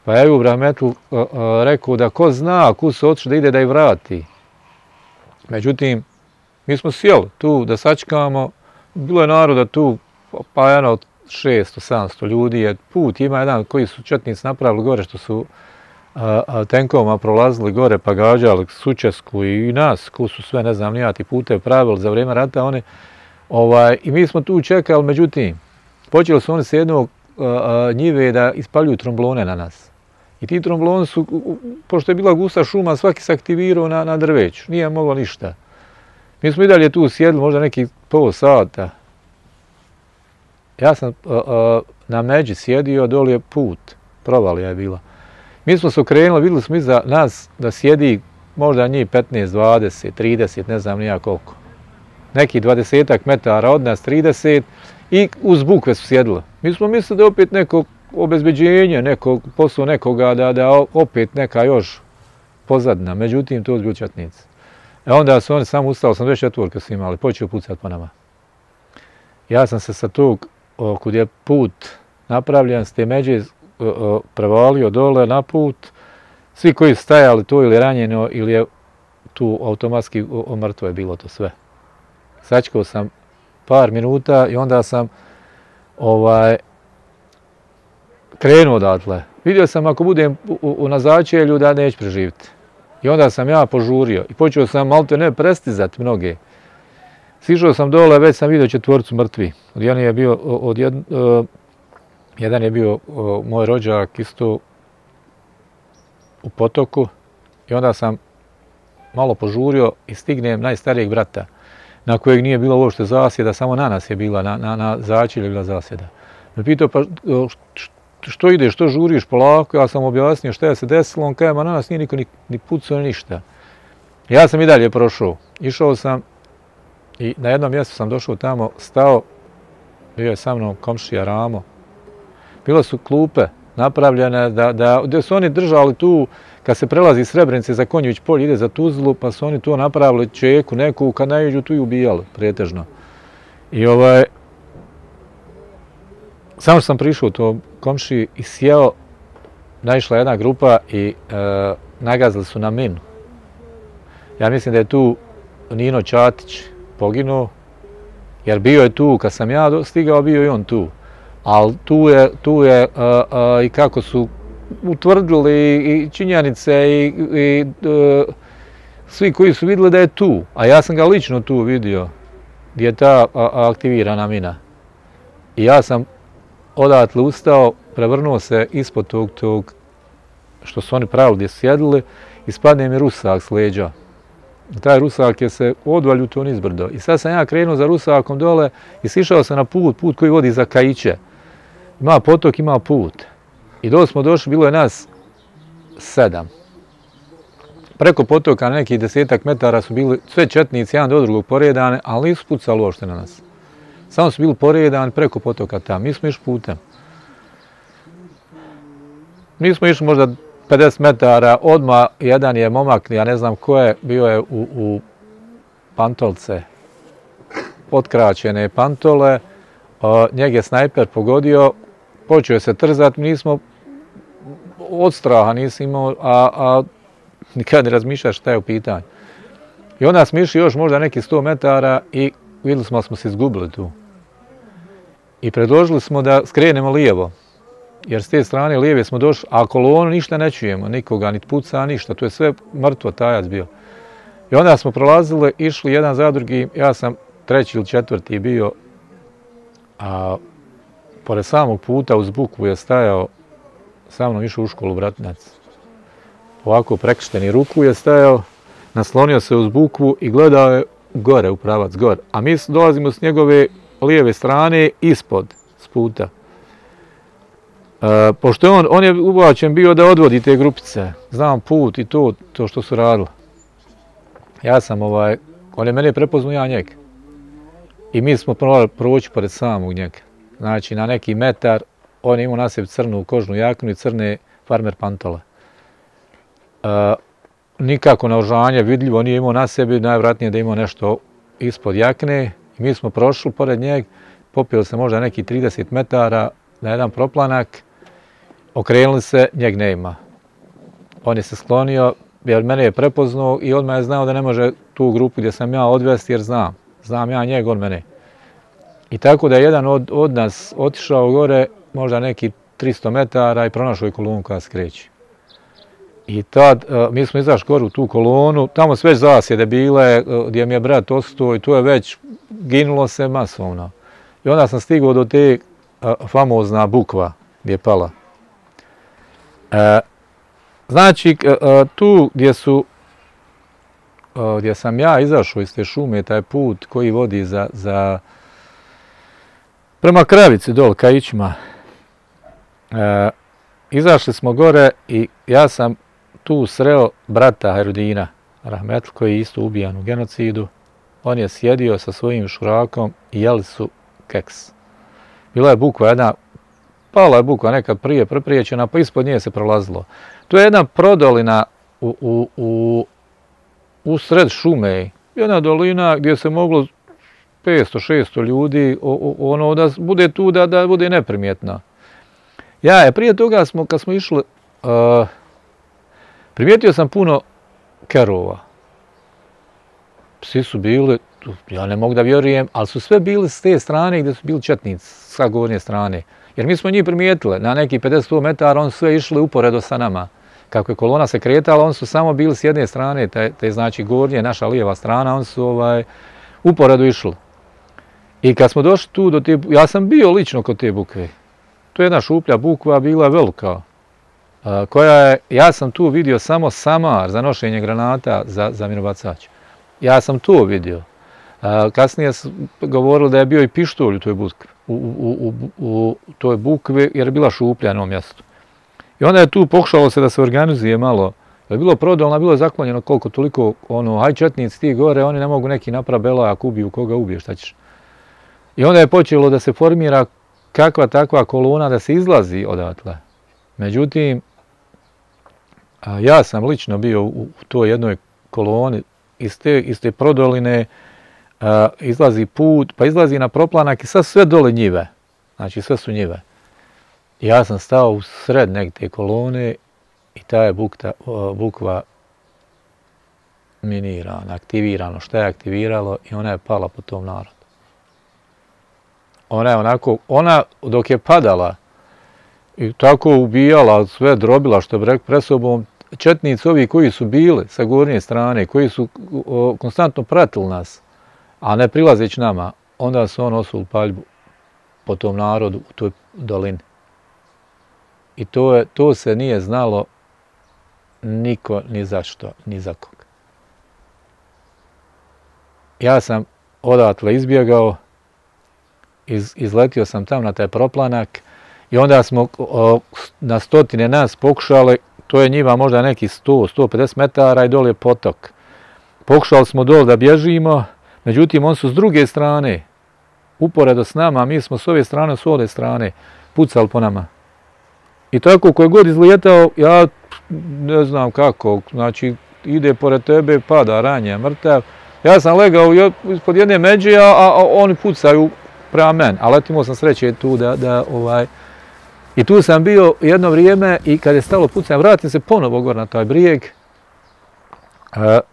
Pa je u rahmetlu uh, uh, rekao da ko zna kud su otišli da ide da ih vrati. Međutim, mi smo sjeli tu da sačekamo, bilo je naroda tu, pa jedno od šesto sedamsto ljudi je put, ima jedan koji su četnici napravili gore što su a, a, tenkovima prolazili gore pa gađali Sučesku i, i nas, ko su sve, ne znam, nijati pute pravili za vrijeme rata, oni, ovaj, i mi smo tu čekali, međutim, počeli su oni s jednog a, a, njive da ispaljuju tromblone na nas. I ti trombloni su, pošto je bila gusta šuma, svaki se aktivirao na, na drveću, nije moglo ništa. Mi smo i dalje tu sjedli, možda neki pol sata. Ja sam uh, uh, na međi sjedio, doli je put, provalija je bila. Mi smo se okrenuli, vidjeli smo iza nas da sjedi možda njih petnaest, dvadeset, trideset, ne znam nija koliko. Neki dvadesetak metara od nas, trideset, i uz bukve su sjedili. Mi smo mislili da je opet neko obezbeđenje, neko, posao nekoga da, da opet neka još pozadina, međutim to su bili četnici. E onda su oni samo ustali, osamdeset četvorke su imali, počeo pucati po nama. Ja sam se sa tog, kud je put napravljen, s te međe prevalio dole na put. Svi koji su stajali to ili ranjeno ili je tu automatski mrtvo je bilo to sve. Sačekao sam par minuta i onda sam ovaj, krenuo odatle. Vidio sam ako budem u, u, na začelju da neću preživjeti. I onda sam ja požurio i počeo sam malte ne prestizati mnoge. Sišao sam dole, već sam vidio četvorcu mrtvi. Jedan je bio, od jed, uh, jedan je bio uh, moj rođak isto u potoku i onda sam malo požurio i stignem najstarijeg brata na kojeg nije bilo uopšte zasjeda, samo na nas je bila, na, na, na začelju je bila zasjeda. Me pitao pa što ideš, što žuriš polako, ja sam objasnio šta je se desilo, on kaže ma na nas nije niko ni, ni pucao ni ništa. Ja sam i dalje prošao, išao sam i na jednom mjestu sam došao tamo, stao, bio je sa mnom komšija Ramo. Bile su klupe napravljene da, da, gdje su oni držali tu, kad se prelazi iz Srebrenice za Konjević polje, ide za Tuzlu, pa su oni tu napravili čeku neku, kad najeđu tu i ubijali, pretežno. I ovaj, samo što sam prišao to komšiji i sjeo, naišla jedna grupa i e, nagazili su na minu. Ja mislim da je tu Nino Čatić poginuo, jer bio je tu, kad sam ja stigao, bio i on tu. Ali tu je, tu je a, a, i kako su utvrdili i, i činjenice i, i a, svi koji su vidjeli da je tu. A ja sam ga lično tu vidio, gdje je ta a, a, aktivirana mina. I ja sam odatle ustao, prevrnuo se ispod tog, tog što su oni pravili gdje su sjedili i spadne mi rusak s leđa. Taj rusak je se odvalju to nizbrdo. I sad sam ja krenuo za rusakom dole i sišao sam na put, put koji vodi za Kajiće. Ima potok, ima put. I dole smo došli, bilo je nas sedam. Preko potoka na nekih desetak metara su bili sve četnici, jedan do drugog poredane, ali nisu pucali uopšte na nas. Samo su bili poredani preko potoka tamo. Mi smo išli putem. Mi smo išli možda pedeset metara, odmah jedan je momak, ja ne znam ko je, bio je u, u pantolce, potkraćene pantole, o, njeg je snajper pogodio, počeo je se trzati, mi nismo od straha nismo imao, a, a nikad ne razmišljaš šta je u pitanju. I onda smo išli još možda neki sto metara i vidjeli smo da smo se izgubili tu. I predložili smo da skrenemo lijevo. Jer s te strane lijeve smo došli, a kolonu ništa ne čujemo, nikoga, niti puca, ništa. To je sve mrtvo, tajac bio. I onda smo prolazili, išli jedan za drugi, ja sam treći ili četvrti bio, a pored samog puta uz bukvu je stajao, sa mnom išao u školu Bratinac. Ovako prekršteni ruku je stajao, naslonio se uz bukvu i gledao je gore, u pravac, gore. A mi dolazimo s njegove lijeve strane, ispod, s puta. Uh, pošto je on, on je ubačen bio da odvodi te grupice, znam put i to, to što su radili. Ja sam ovaj, on je mene prepoznao, ja njega. I mi smo morali proći pored samog njega. Znači na neki metar, on je imao na sebi crnu kožnu jaknu i crne farmer pantole. Uh, nikako naoružanje vidljivo nije imao na sebi, najvjerojatnije da je imao nešto ispod jakne. I mi smo prošli pored njega, popili se možda neki trideset metara na jedan proplanak, okrenuli se, njeg ne ima. On je se sklonio, jer mene je prepoznao i odmah je znao da ne može tu grupu gdje sam ja odvesti, jer znam. Znam ja njeg, on mene. I tako da je jedan od, od nas otišao gore, možda neki tristo metara i pronašao je kolonu koja se kreće. I tad, uh, mi smo izašli gore u tu kolonu, tamo su već zasjede bile, uh, gdje mi je brat ostao i tu je već ginulo se masovno. I onda sam stigao do te uh, famozna bukva gdje je pala. Uh, znači, uh, tu gdje su, uh, gdje sam ja izašao iz te šume, taj put koji vodi za, za prema Kravici dol, Kajićima, uh, izašli smo gore i ja sam tu sreo brata Herudina Rahmetl, koji je isto ubijan u genocidu. On je sjedio sa svojim šurakom i jeli su keks. Bila je bukva jedna, pala je bukva nekad prije prepriječena, pa ispod nje se prolazilo. To je jedna prodolina u, u, u, u sred šume, jedna dolina gdje se moglo petsto šesto ljudi, o, o, ono da bude tu, da, da bude neprimjetna. Ja je prije toga smo, kad smo išli, uh, primijetio sam puno kerova. Psi su bili, ja ne mogu da vjerujem, ali su sve bili s te strane gdje su bili četnici, sa gornje strane. Jer mi smo njih primijetili, na neki pedeset do sto metara, oni su sve išli uporedo sa nama. Kako je kolona se kretala, oni su samo bili s jedne strane, te, te znači gornje, naša lijeva strana, oni su ovaj, uporedo išli. I kad smo došli tu do te, ja sam bio lično kod te bukve. To je jedna šuplja bukva, bila velika, koja je, ja sam tu vidio samo samar za nošenje granata za, za minobacač. Ja sam to vidio. Kasnije su govorili da je bio i pištolj u toj bukvi, u, u, u, u toj bukvi jer je bila šuplja na ovom mjestu. I onda je tu pokušalo se da se organizuje malo. Je bilo prodolno, bilo je zaklonjeno koliko toliko, ono, haj četnici ti gore, oni ne mogu neki napraviti bela, ako ubiju koga ubije, šta ćeš. I onda je počelo da se formira kakva takva kolona, da se izlazi odatle. Međutim, ja sam lično bio u toj jednoj koloni, iz te, iz te prodoline a, izlazi put, pa izlazi na proplanak i sad sve dole njive. Znači sve su njive. Ja sam stao u sred neke te kolone i ta je bukta, bukva minirana, aktivirano. Šta je aktiviralo i ona je pala po tom narodu. Ona je onako, ona dok je padala i tako ubijala, sve drobila što bi rekao pred sobom, četnici ovi koji su bili sa gornje strane, koji su o, konstantno pratili nas, a ne prilazeći nama, onda su on osuli paljbu po tom narodu u toj dolini. I to, je, to se nije znalo niko ni za što, ni za koga. Ja sam odatle izbjegao, iz, izletio sam tam na taj proplanak i onda smo o, na stotine nas pokušali, to je njiva možda neki sto do sto pedeset metara i dole je potok. Pokušali smo dole da bježimo, međutim oni su s druge strane, uporedo s nama, mi smo s ove strane, s ove strane, pucali po nama. I tako ko je god izlijetao, ja ne znam kako, znači ide pored tebe, pada, ranje, mrtav. Ja sam legao ispod jedne međe, a, a oni pucaju prema meni, a letimo sam sreće tu da, da ovaj... I tu sam bio jedno vrijeme i kad je stalo pucanje, vratim se ponovo gore na taj brijeg. E,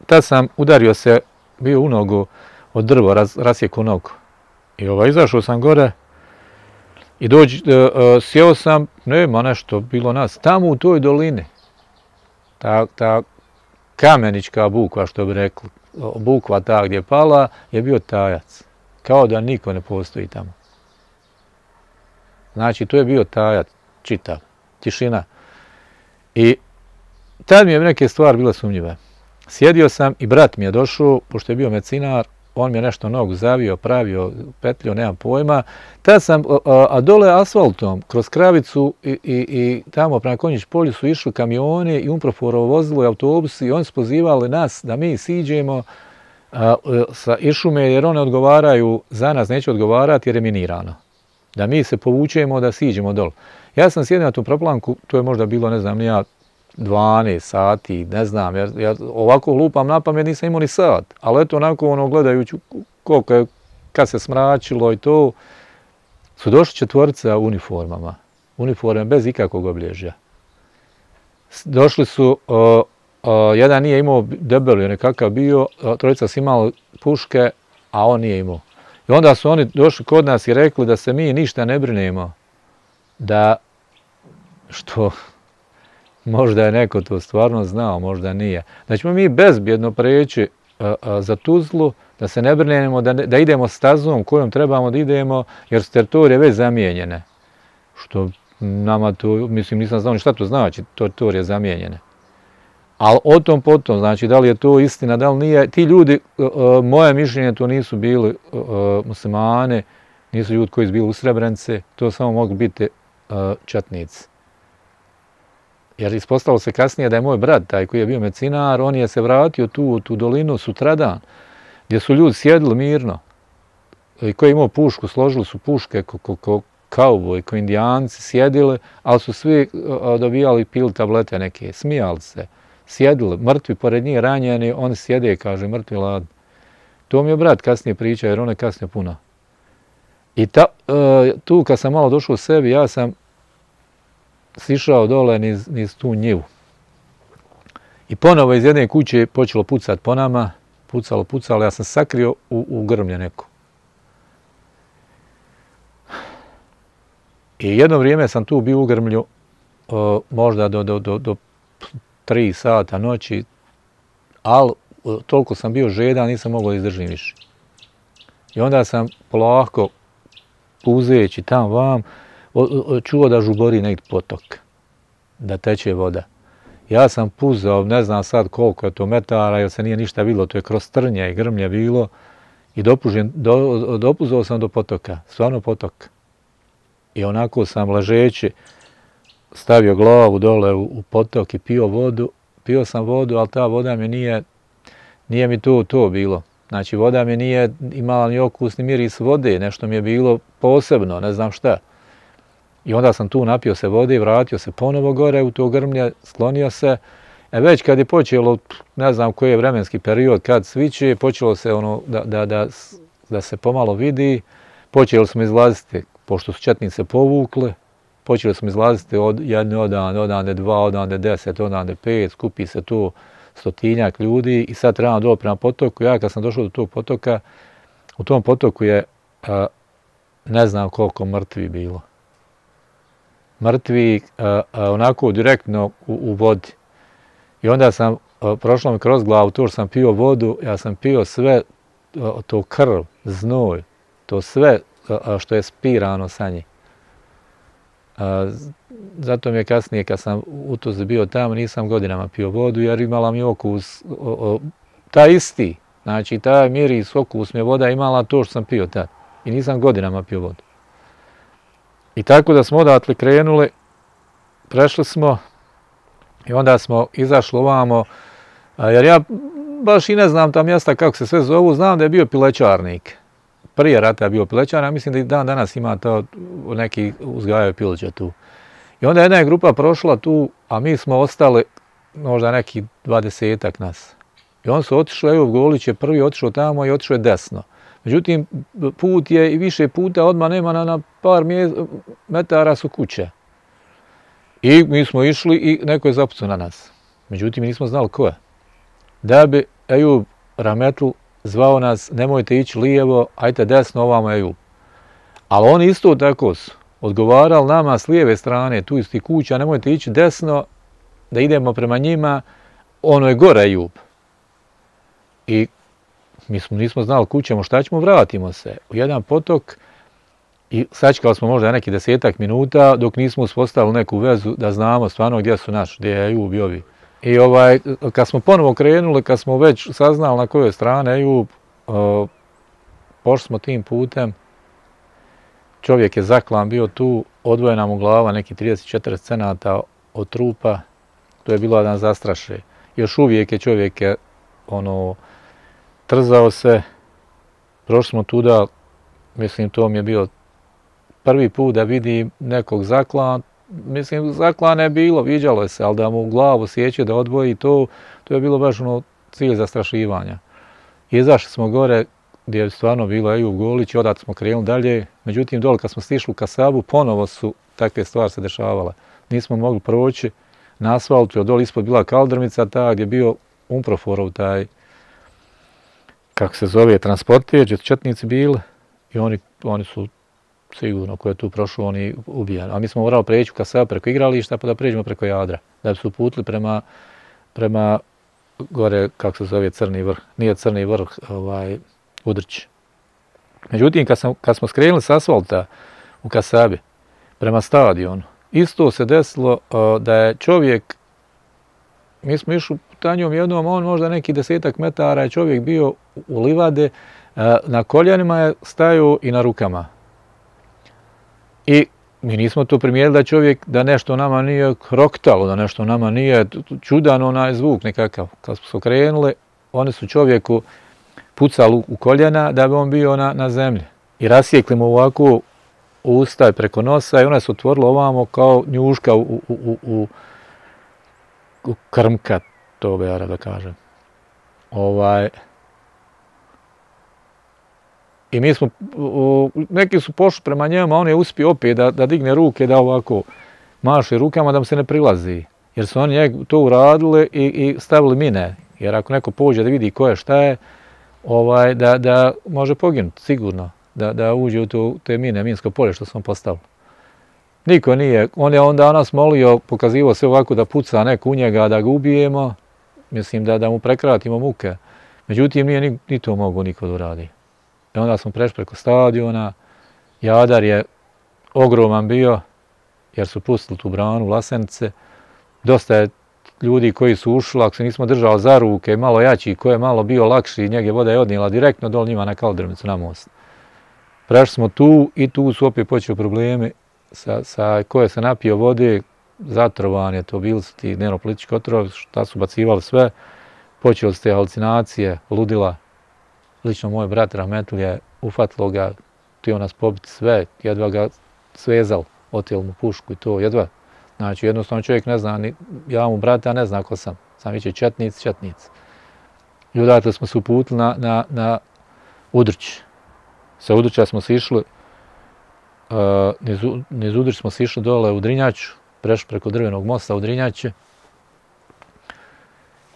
tad sam udario se, bio u nogu od drvo, raz, rasjekao nogu. I ovaj, izašao sam gore i dođi, e, e, sjeo sam, nema nešto, bilo nas, tamo u toj dolini. Ta, ta kamenička bukva, što bi rekli, bukva ta gdje je pala, je bio tajac. Kao da niko ne postoji tamo. Znači, to je bio tajac, čitav, tišina. I tad mi je neke stvari bile sumnjive. Sjedio sam i brat mi je došao, pošto je bio medicinar, on mi je nešto nogu zavio, pravio, petljio, nemam pojma. Tad sam, a, a dole asfaltom, kroz Kravicu i, i, i tamo prema Konjić polju su išli kamioni i Umproforovo vozilo i autobusi i oni su pozivali nas da mi siđemo a, sa Išume jer one odgovaraju, za nas neće odgovarati jer je minirano. Da mi se povučemo, da siđemo dole. Ja sam sjedio na tu proplanku, to je možda bilo, ne znam, nija dvanaest sati, ne znam, jer ja ovako lupam na pamet, nisam imao ni sat. Ali eto, onako, ono, gledajući koliko je, kad se smračilo i to, su došli četvorica u uniformama. Uniforme bez ikakvog obilježja. Došli su, o, o, jedan nije imao debeli, nekakav bio, trojica su imali puške, a on nije imao. I onda su oni došli kod nas i rekli da se mi ništa ne brinemo, da, što možda je neko to stvarno znao, možda nije, da ćemo mi bezbjedno preći a, a, za Tuzlu, da se ne brinemo, da, ne, da idemo stazom kojom trebamo da idemo, jer su teritorije već zamijenjene. Što nama to, mislim, nisam znao ni šta to znači, teritorije zamijenjene. Ali o tom potom, znači da li je to istina, da li nije, ti ljudi, uh, moje mišljenje, to nisu bili uh, muslimane, nisu ljudi koji su bili u Srebrenici, to samo mogu biti uh, četnici. Jer ispostavilo se kasnije da je moj brat, taj koji je bio medicinar, on je se vratio tu u tu dolinu sutradan, gdje su ljudi sjedili mirno, i koji je imao pušku, složili su puške ko, ko, ko kauboj, ko indijanci, sjedili, ali su svi uh, dobijali, pili tablete neke, smijali se. sjedili, mrtvi pored njih ranjeni, oni sjede, kaže, mrtvi ladni. To mi je brat kasnije priča, jer on je kasnije puno. I ta, e, tu kad sam malo došao u sebi, ja sam sišao dole niz, niz tu njivu. I ponovo iz jedne kuće počelo pucat po nama, pucalo, pucalo, ja sam sakrio u, u grmlje neko. I jedno vrijeme sam tu bio u grmlju, o, možda do, do, do, do tri sata noći, ali toliko sam bio žedan, nisam mogao izdržim više. I onda sam polako, puzeći tam vam, čuo da žubori negdje potok, da teče voda. Ja sam puzao, ne znam sad koliko je to metara, jer se nije ništa vidjelo, to je kroz trnje i grmlje bilo, i dopužen, do, dopuzao sam do potoka, stvarno potok. I onako sam ležeći stavio glavu dole u, u potok i pio vodu. Pio sam vodu, ali ta voda mi nije, nije mi to, to bilo. Znači, voda mi nije imala ni okus, ni miris vode, nešto mi je bilo posebno, ne znam šta. I onda sam tu napio se vode, vratio se ponovo gore u to grmlje, sklonio se. E već kad je počelo, ne znam koji je vremenski period, kad sviće, počelo se ono da, da, da, da se pomalo vidi, počeli smo izlaziti, pošto su četnice povukle, počeli smo izlaziti od jedne odande, odande dva, odande deset, odande pet, skupi se tu stotinjak ljudi i sad trebamo dole prema potoku. Ja kad sam došao do tog potoka, u tom potoku je a, ne znam koliko mrtvi bilo. Mrtvi a, a, onako direktno u, u vodi. I onda sam, a, prošlo mi kroz glavu, to što sam pio vodu, ja sam pio sve, a, to krv, znoj, to sve a, što je spirano sa njih. A, zato mi je kasnije, kad sam u Tuzli bio tamo, nisam godinama pio vodu, jer imala mi okus, o, o, taj isti, znači taj miris, okus mi je voda imala to što sam pio tad. I nisam godinama pio vodu. I tako da smo odatle krenuli, prešli smo i onda smo izašli ovamo, a, jer ja baš i ne znam ta mjesta kako se sve zovu, znam da je bio pilećarnik. Prije rata je bio pilećar, a mislim da i dan danas ima to, neki uzgajaju pileće tu. I onda jedna je grupa prošla tu, a mi smo ostali možda neki dvadesetak nas. I on su otišli, Ejub Golić je prvi otišao tamo i otišao je desno. Međutim, put je i više puta, odmah nema na, na par metara su kuće. I mi smo išli i neko je zapucao na nas. Međutim, mi nismo znali ko je. Da bi Ejub Rahmetl zvao nas, nemojte ići lijevo, ajte desno, ovamo Ejub. Ali oni isto tako su odgovarali nama s lijeve strane, tu iz tih kuća, nemojte ići desno, da idemo prema njima, ono je gore Ejub. I mi smo, nismo znali kućemo, šta ćemo, vratimo se u jedan potok i sačekali smo možda neki desetak minuta dok nismo uspostavili neku vezu da znamo stvarno gdje su naši, gdje je Ejub i ovi. I ovaj, kad smo ponovo krenuli, kad smo već saznali na kojoj strane Ejub, uh, pošli smo tim putem, čovjek je zaklan bio tu, odvojena mu glava neki trideset četrdeset centimetara od trupa, to je bilo jedan zastraše. Još uvijek je čovjek je, ono, trzao se, prošli smo tuda, mislim to mi je bio prvi put da vidim nekog zaklan, mislim zaklane je bilo, viđalo je se, ali da mu glavu sjeće, da odvoji to, to je bilo baš ono cilj zastrašivanja. Izašli smo gore gdje je stvarno bilo Ejub Golić i odatle smo krenuli dalje, međutim dole kad smo stišli u Kasabu, ponovo su takve stvari se dešavale. Nismo mogli proći na asfaltu, jer dole ispod bila kaldrmica ta gdje je bio Umproforov taj, kako se zove, transportir, gdje su četnici bili i oni, oni su sigurno ko je tu prošao, oni ubijani. A mi smo morali preći u Kasabu preko igrališta pa da pređemo preko Jadra, da bi se uputili prema, prema gore, kako se zove, Crni vrh. Nije Crni vrh, ovaj, Udrć. Međutim, kad, sam, kad smo skrenuli s asfalta u Kasabi prema stadionu, isto se desilo uh, da je čovjek, mi smo išli putanjom jednom, on možda neki desetak metara je čovjek bio u livade, uh, na koljenima je stajao i na rukama. I mi nismo to primijetili da čovjek, da nešto nama nije kroktalo, da nešto nama nije čudan onaj zvuk nekakav. Kad smo se okrenuli, oni su čovjeku pucali u koljena da bi on bio na, na zemlji. I rasjekli mu ovako usta preko nosa i ona se otvorila ovamo kao njuška u, u, u, u, u krmka. To bi ja da kažem. Ovaj... I mi smo, neki su pošli prema njemu, a on je uspio opet da, da digne ruke, da ovako maše rukama, da mu se ne prilazi. Jer su oni to uradili i, i stavili mine. Jer ako neko pođe da vidi ko je šta je, ovaj, da, da može poginuti, sigurno. Da, da uđe u to, te mine, minsko polje što smo postavili. Niko nije. On je onda nas molio, pokazivao se ovako da puca neko u njega, da ga ubijemo. Mislim da, da mu prekratimo muke. Međutim, nije ni, ni to mogu niko da uradi. I onda smo prešli preko stadiona. Jadar je ogroman bio, jer su pustili tu branu Vlasenice. Dosta je ljudi koji su ušli, ako se nismo držali za ruke, malo jači, ko je malo bio lakši, njega voda je odnijela direktno dol njima na Kaldrmicu na most. Prešli smo tu i tu su opet počeli problemi sa, sa ko je se napio vode, zatrovan je to, bili su ti dnevnopolitički otrovi, šta su bacivali sve, počeli su te halucinacije, ludila. Lično moj brat Rahmetli je ufatilo ga, htio nas pobiti sve, jedva ga svezal, otijel mu pušku i to, jedva. Znači, jednostavno čovjek ne zna, ni, ja mu brate, a ne zna ko sam. Sam viće četnic, četnic. I odatle smo se uputili na, na, na Udrć. Sa Udrća smo se išli, uh, niz, niz Udrć smo se išli dole u Drinjaču, prešli preko Drvenog mosta u Drinjače.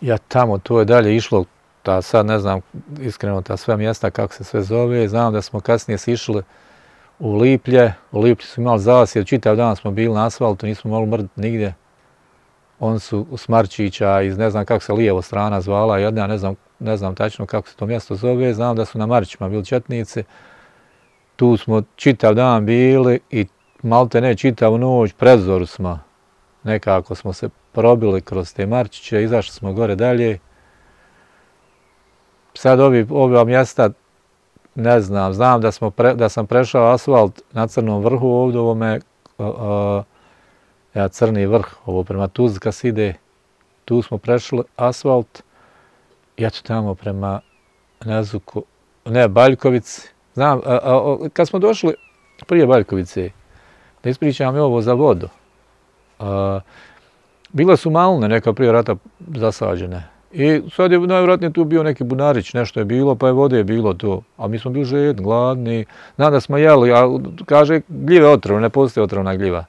Ja tamo, to je dalje išlo, ta sad ne znam iskreno ta sve mjesta kako se sve zove, znam da smo kasnije sišli u Liplje, u Liplju smo imali zasjed, čitav dan smo bili na asfaltu, nismo mogli mrditi nigdje. Oni su u Smarčića iz ne znam kako se lijevo strana zvala, jedna ne znam, ne znam tačno kako se to mjesto zove, znam da su na Marićima bili četnici. Tu smo čitav dan bili i malte ne čitavu noć, pred zoru smo. Nekako smo se probili kroz te Marčiće, izašli smo gore dalje. Sad ovi, ova mjesta, ne znam, znam da, smo pre, da sam prešao asfalt na Crnom vrhu ovdje, ovome, uh, uh, ja, Crni vrh, ovo prema Tuzli kad se ide, tu smo prešli asfalt, ja ću tamo prema Nezuku, ne, Baljkovici, znam, uh, uh, kad smo došli prije Baljkovice, da ispričam je ovo za vodu, uh, bile su malne neka prije rata zasađene. I sad je najvjerojatnije tu bio neki bunarić, nešto je bilo, pa je vode je bilo to. A mi smo bili žedni, gladni, znam da smo jeli, a kaže gljive otrovne, ne postoji otrovna gljiva.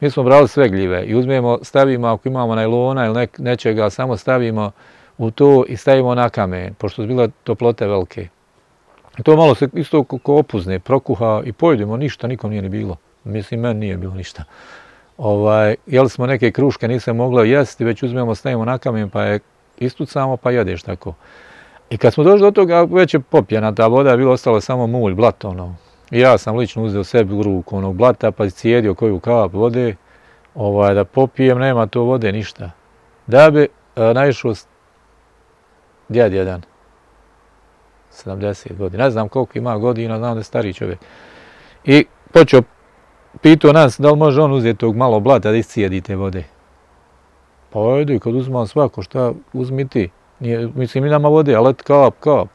Mi smo brali sve gljive i uzmemo, stavimo, ako imamo najlona ili nek, nečega, samo stavimo u to i stavimo na kamen, pošto su bile toplote velike. I to malo se isto ko opuzne, prokuha i pojedemo, ništa, nikom nije ni bilo. Mislim, meni nije bilo ništa. Ovaj, jeli smo neke kruške, nisam mogla jesti, već uzmemo, stavimo na kamen, pa je istucamo pa jedeš tako. I kad smo došli do toga, već je popijena ta voda, je bilo ostalo samo mulj, blato ono. I ja sam lično uzeo sebi u ruku onog blata, pa cijedio koju kap vode, ovaj, da popijem, nema to vode, ništa. Da bi e, naišao djed jedan, sedamdeset godina, ne znam koliko ima godina, znam da je stariji čovjek. I počeo, pitao nas da li može on uzeti tog malo blata da iscijedi te vode. Pa ajde, kad uzmam svako, šta uzmi ti? Nije, mislim, mi nama vode, ali kap, kap.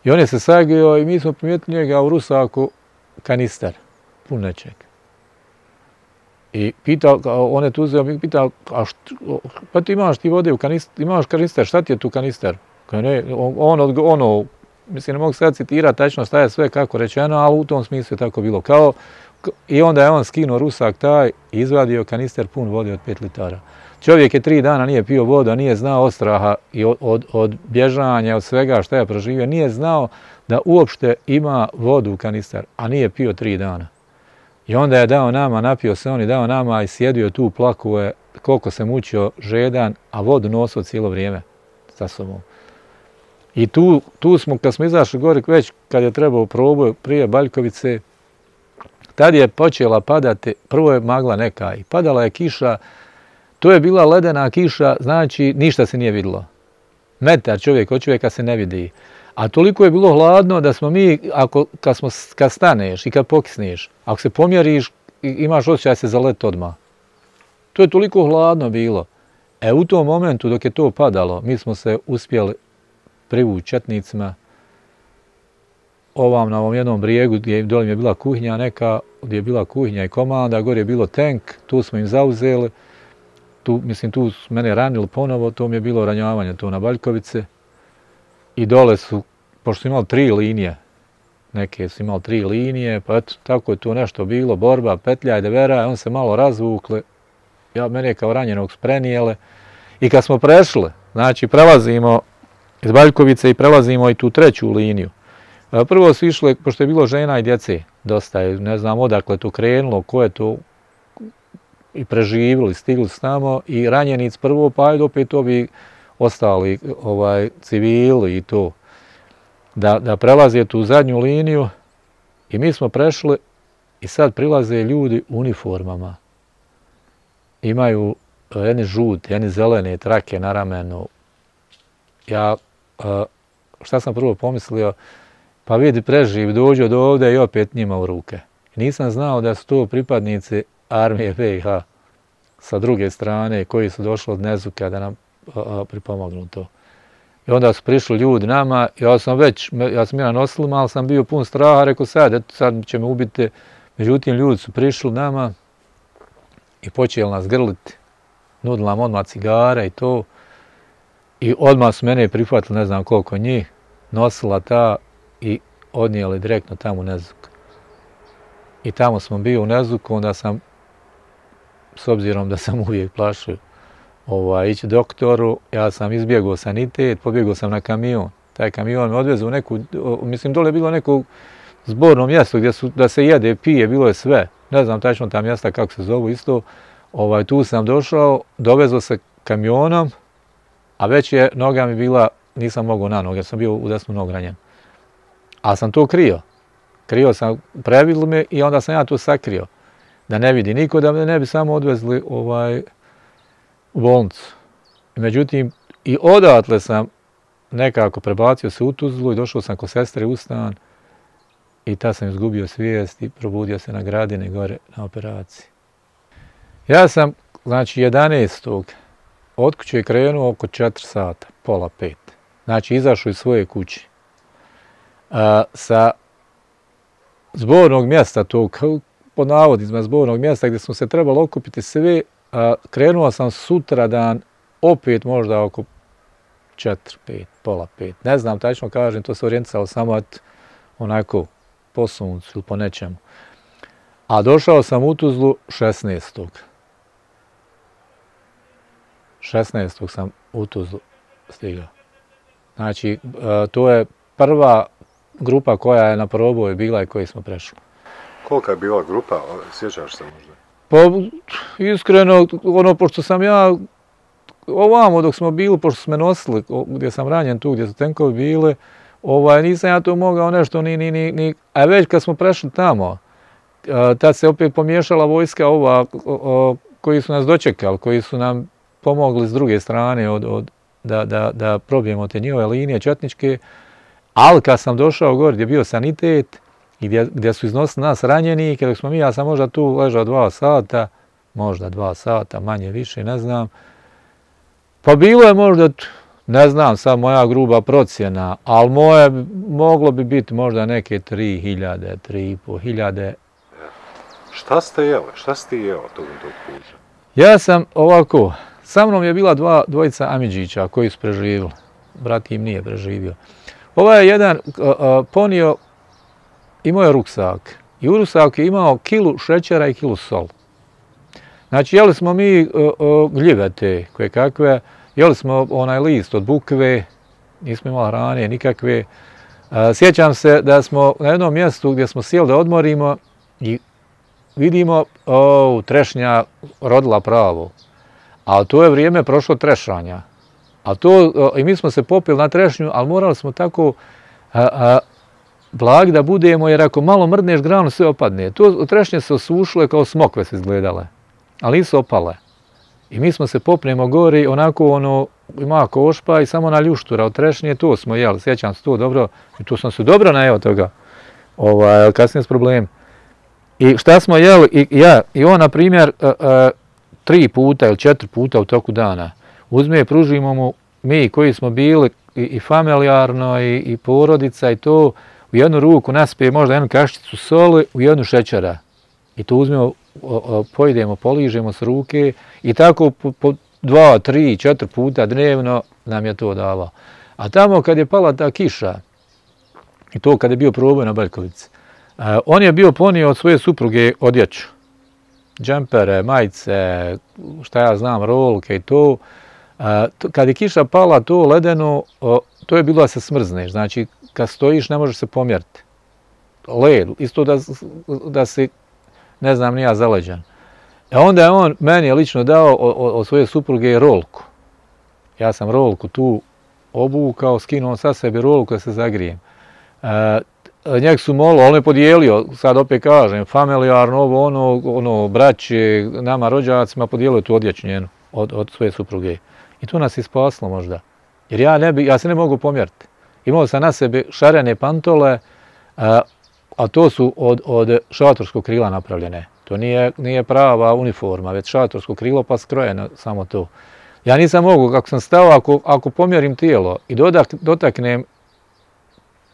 I on je se sagio i mi smo primijetili njega u rusaku kanister, pun nečeg. I pitao, on je tu uzeo, mi pitao, a što, pa ti imaš ti vode u kanister, imaš kanister, šta ti je tu kanister? Kao ne, on, on, ono, mislim, ne mogu sad citirati tačno šta je sve kako rečeno, ali u tom smislu je tako bilo. Kao, i onda je on skinuo rusak taj i izvadio kanister pun vode od pet litara. Čovjek je tri dana nije pio vodu, a nije znao od straha i od, od, od bježanja, od svega šta je proživio. Nije znao da uopšte ima vodu u kanister, a nije pio tri dana. I onda je dao nama, napio se on i dao nama i sjedio tu, plakuje koliko se mučio žedan, a vodu nosio cijelo vrijeme sa sobom. I tu, tu smo, kad smo izašli gore, već kad je trebao proboj prije Baljkovice, tad je počela padati, prvo je magla neka i padala je kiša. To je bila ledena kiša, znači ništa se nije vidjelo. Metar čovjek od čovjeka se ne vidi. A toliko je bilo hladno da smo mi, ako, kad, smo, kad staneš i kad pokisneš, ako se pomjeriš, imaš osjećaj se zalet odmah. To je toliko hladno bilo. E u tom momentu dok je to padalo, mi smo se uspjeli privući četnicima. Ovam na ovom jednom brijegu gdje dole je bila kuhinja neka, gdje je bila kuhinja i komanda, gore je bilo tank, tu smo im zauzeli. tu, mislim, tu su mene ranili ponovo, to mi je bilo ranjavanje to na Baljkovice. I dole su, pošto su imali tri linije, neke su imali tri linije, pa eto, tako je tu nešto bilo, borba, petlja i devera, on se malo razvukle, ja, mene kao ranjenog sprenijele. I kad smo prešli, znači prelazimo iz Baljkovice i prelazimo i tu treću liniju. Prvo su išle, pošto je bilo žena i djece, dosta je, ne znam odakle to krenulo, ko je to i preživjeli, stigli s tamo i ranjenic prvo, pa ajde opet ovi ostali ovaj, civili i to. Da, da prelaze tu zadnju liniju i mi smo prešli i sad prilaze ljudi u uniformama. Imaju jedni žute, jedni zelene trake na ramenu. Ja, šta sam prvo pomislio, pa vidi preživ, dođu do ovdje i opet njima u ruke. Nisam znao da su to pripadnici armije be i ha sa druge strane koji su došli od Nezuka da nam pripomognu to. I onda su prišli ljudi nama, ja sam već, ja sam jedan oslima, ali sam bio pun straha, rekao sad, eto sad će me ubiti. Međutim, ljudi su prišli nama i počeli nas grliti. Nudili nam odmah cigare i to. I odmah su mene prihvatili, ne znam koliko njih, nosila ta i odnijeli direktno tamo u Nezuk. I tamo smo bili u Nezuku, onda sam, s obzirom da sam uvijek plašio ovaj, ići doktoru, ja sam izbjegao sanitet, pobjegao sam na kamion. Taj kamion me odvezao u neku, mislim dole je bilo neko zborno mjesto gdje su, da se jede, pije, bilo je sve. Ne znam tačno ta mjesta kako se zovu isto. Ovaj, tu sam došao, dovezao se kamionom, a već je noga mi bila, nisam mogao na noge, ja sam bio u desnu nogu ranjen. Ali sam to krio. Krio sam, previdli me i onda sam ja to sakrio. Da ne vidi niko, da me ne bi samo odvezli ovaj, u bolnicu. Međutim, i odatle sam nekako prebacio se u Tuzlu i došao sam kod sestre u stan i tad sam izgubio svijest i probudio se na Gradini gore na operaciji. Ja sam, znači, jedanaestog od kuće krenuo oko četiri sata, pola pet. Znači, izašao iz svoje kuće. A, sa zbornog mjesta, tog, pod navodnicima zbornog mjesta gdje smo se trebali okupiti sve, a, krenuo sam sutradan opet možda oko četiri, pet, pola pet. Ne znam, tačno kažem, to se orijentisalo samo onako po suncu ili po nečemu. A došao sam u Tuzlu šesnaestog šesnaestog sam u Tuzlu stigao. Znači, to je prva grupa koja je na proboj bila i koji smo prešli. Kolika je bila grupa? Sjećaš se možda? Pa, iskreno, ono, pošto sam ja ovamo dok smo bili, pošto smo me nosili, gdje sam ranjen tu, gdje su tenkovi bile, ovaj, nisam ja to mogao nešto ni, ni, ni, ni, a već kad smo prešli tamo, tad se opet pomiješala vojska ova, o, o, koji su nas dočekali, koji su nam pomogli s druge strane od, od, da, da, da probijemo te njihove linije četničke, ali kad sam došao gore gdje je bio sanitet i gdje, gdje su iznosili nas ranjeni, kada smo mi, ja sam možda tu ležao dva sata, možda dva sata, manje više, ne znam, pa bilo je možda, ne znam, sad moja gruba procjena, ali moje moglo bi biti možda neke tri hiljade, tri i po hiljade. Šta ste jeli? Šta ste jeo tog tog puta? Ja sam ovako, sa mnom je bila dva, dvojica Amidžića koji su preživjeli. Brat im nije preživio. Ovaj je jedan uh, uh, ponio, imao je ruksak. I u ruksaku je imao kilu šećera i kilu sol. Znači, jeli smo mi uh, uh, gljive te koje kakve, jeli smo onaj list od bukve, nismo imali hrane nikakve. Uh, sjećam se da smo na jednom mjestu gdje smo sjeli da odmorimo i vidimo, o, trešnja rodila pravo. Ali to je vrijeme prošlo trešanja. A to, o, i mi smo se popili na trešnju, ali morali smo tako a, a, blag da budemo, jer ako malo mrdneš granu, sve opadne. To trešnje se osušile kao smokve se izgledale, ali nisu opale. I mi smo se popnemo gori, onako ono, ima košpa i samo na ljuštura od trešnje, to smo jeli, sjećam se to dobro, i tu sam se dobro najeo toga, ovaj, kasnije s problemom. I šta smo jeli, i ja, i on, na primjer, uh, uh, tri puta ili četiri puta u toku dana, uzme i pružimo mu, mi koji smo bili i, i familijarno, i, i porodica, i to, u jednu ruku naspije možda jednu kaščicu soli, u jednu šećera. I to uzmemo pojedemo, poližemo s ruke i tako po, po dva, tri, četiri puta dnevno nam je to davao. A tamo kad je pala ta kiša, i to kad je bio proboj na Beljkovici, on je bio ponio od svoje supruge odjeću. Džempere, majice, šta ja znam, rolke i to. Kad je kiša pala, to ledeno, to je bilo da se smrzneš. Znači, kad stojiš ne možeš se pomjeriti. Led, isto da, da si, ne znam, nija zaleđan. E onda je on meni je lično dao od svoje supruge rolku. Ja sam rolku tu obukao, skinuo sa sebi rolku da se zagrijem. E, njeg su molili, on je podijelio, sad opet kažem, familijarno, ovo, ono, ono, braće, nama rođacima, podijelio tu odjeću njenu od, od svoje supruge. I to nas je spaslo možda. Jer ja, ne bi, ja se ne mogu pomjeriti. Imao sam na sebi šarene pantole, a, a to su od, od šatorskog krila napravljene. To nije, nije prava uniforma, već šatorsko krilo pa skrojeno samo to. Ja nisam mogu, kako sam stao, ako, ako pomjerim tijelo i dodak, dotaknem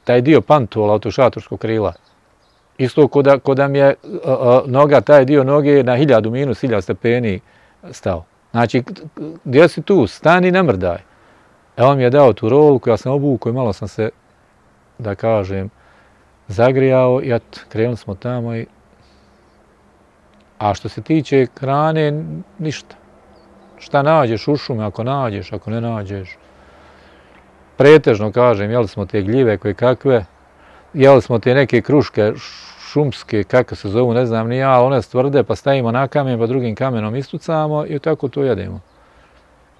taj dio pantola od tog šatorskog krila, isto ko da, ko da mi je a, a, noga, taj dio noge na hiljadu minus, hiljadu stepeni stao. Znači, gdje si tu? Stani, ne mrdaj. E on mi je dao tu rolku, ja sam obukao i malo sam se, da kažem, zagrijao i at, krenuli smo tamo i... A što se tiče hrane, ništa. Šta nađeš u šume, ako nađeš, ako ne nađeš. Pretežno, kažem, jeli smo te gljive koje kakve, jeli smo te neke kruške šumske, kako se zovu, ne znam ni ja, ali one stvrde, pa stavimo na kamen, pa drugim kamenom istucamo i tako to jedemo.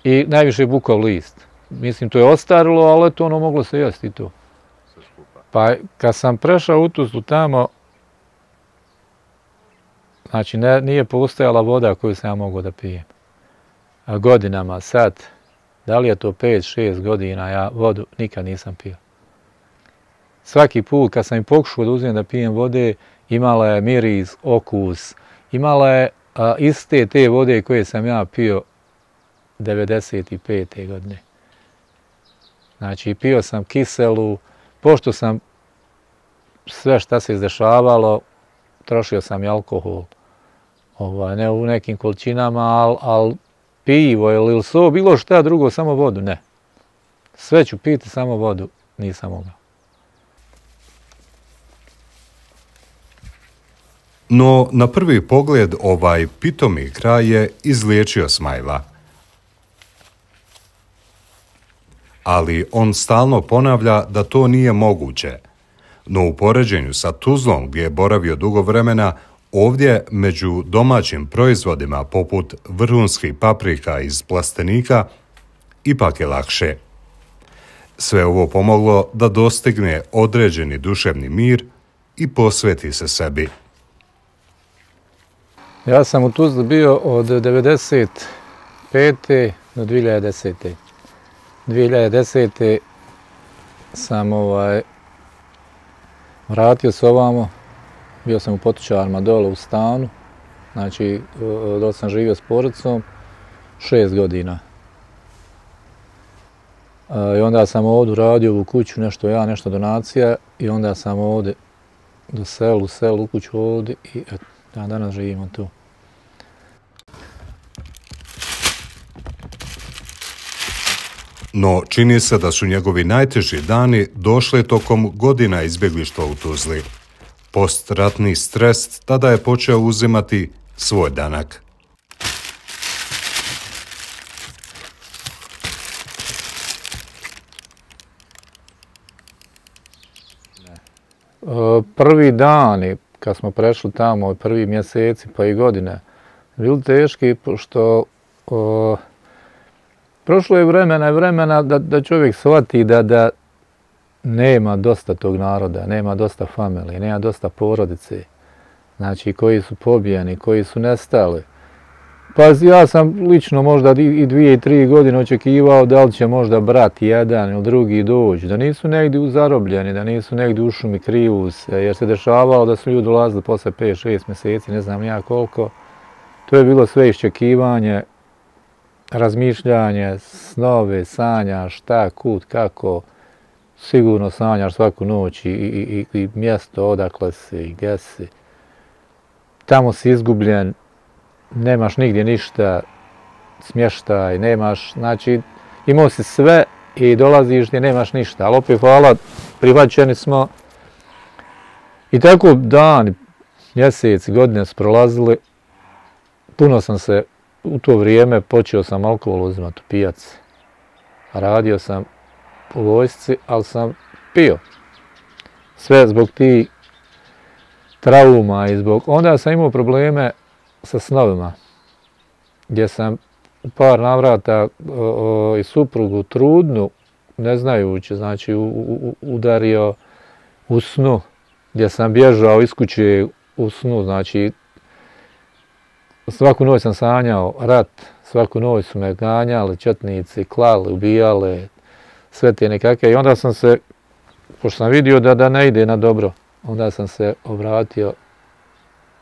I najviše bukov list. Mislim, to je ostarilo, ali to ono moglo se jesti i to. Pa kad sam prešao u Tuzlu tamo, znači ne, nije postojala voda koju sam ja mogao da pijem. A godinama, sad, da li je to pet, šest godina, ja vodu nikad nisam pio. Svaki put kad sam im pokušao da uzmem da pijem vode, imala je miris, okus, imala je a, iste te vode koje sam ja pio devedeset pete godine. Znači, pio sam kiselu, pošto sam sve šta se izdešavalo, trošio sam i alkohol. Ovaj, ne u nekim količinama, ali al pivo ili so, bilo šta drugo, samo vodu, ne. Sve ću piti, samo vodu nisam mogao. No, na prvi pogled ovaj pitomi kraj je izliječio Smajla. Ali on stalno ponavlja da to nije moguće. No u poređenju sa Tuzlom, gdje je boravio dugo vremena, ovdje među domaćim proizvodima poput vrhunskih paprika iz plastenika ipak je lakše. Sve ovo pomoglo da dostigne određeni duševni mir i posveti se sebi. Ja sam u Tuzli bio od devedeset pete do dvije hiljade desete. dvije hiljade desete sam ovaj, vratio se ovamo, bio sam u Potočarima dole u stanu, znači dole sam živio s porodicom šest godina. I onda sam ovdje radio u kuću, nešto ja, nešto donacija i onda sam ovdje do selu, selu, u kuću ovdje i eto, ja danas živimo tu. No, čini se da su njegovi najteži dani došli tokom godina izbjeglištva u Tuzli. Postratni stres tada je počeo uzimati svoj danak. Prvi dani, kad smo prešli tamo, prvi mjeseci pa i godine, bili teški, pošto o, prošlo je vremena i vremena da, da čovjek shvati da, da nema dosta tog naroda, nema dosta familije, nema dosta porodice, znači koji su pobijeni, koji su nestali. Pa ja sam lično možda i dvije i tri godine očekivao da li će možda brat jedan ili drugi doći, da nisu negdje zarobljeni, da nisu negdje u šumi kriju se, jer se dešavalo da su ljudi dolazili posle pet šest mjeseci, ne znam ja koliko. To je bilo sve iščekivanje, razmišljanje, snove, sanja, šta, kud, kako. Sigurno sanjaš svaku noć i, i, i, i mjesto odakle si i gdje si. tamo si izgubljen, nemaš nigdje ništa, smještaj, nemaš, znači imao si sve i dolaziš gdje nemaš ništa, ali opet hvala, prihvaćeni smo. I tako dani, mjeseci, godine su prolazili, puno sam se u to vrijeme počeo sam alkohol uzimati u pijaci. Radio sam u vojsci, ali sam pio. Sve zbog tih trauma i zbog... Onda sam imao probleme sa snovima, gdje sam u par navrata o, o, i suprugu trudnu, ne znajući, znači u, u, udario u snu, gdje sam bježao iz kuće u snu, znači svaku noć sam sanjao rat, svaku noć su me ganjali, četnici, klali, ubijali, sve te nekakve. I onda sam se, pošto sam vidio da, da ne ide na dobro, onda sam se obratio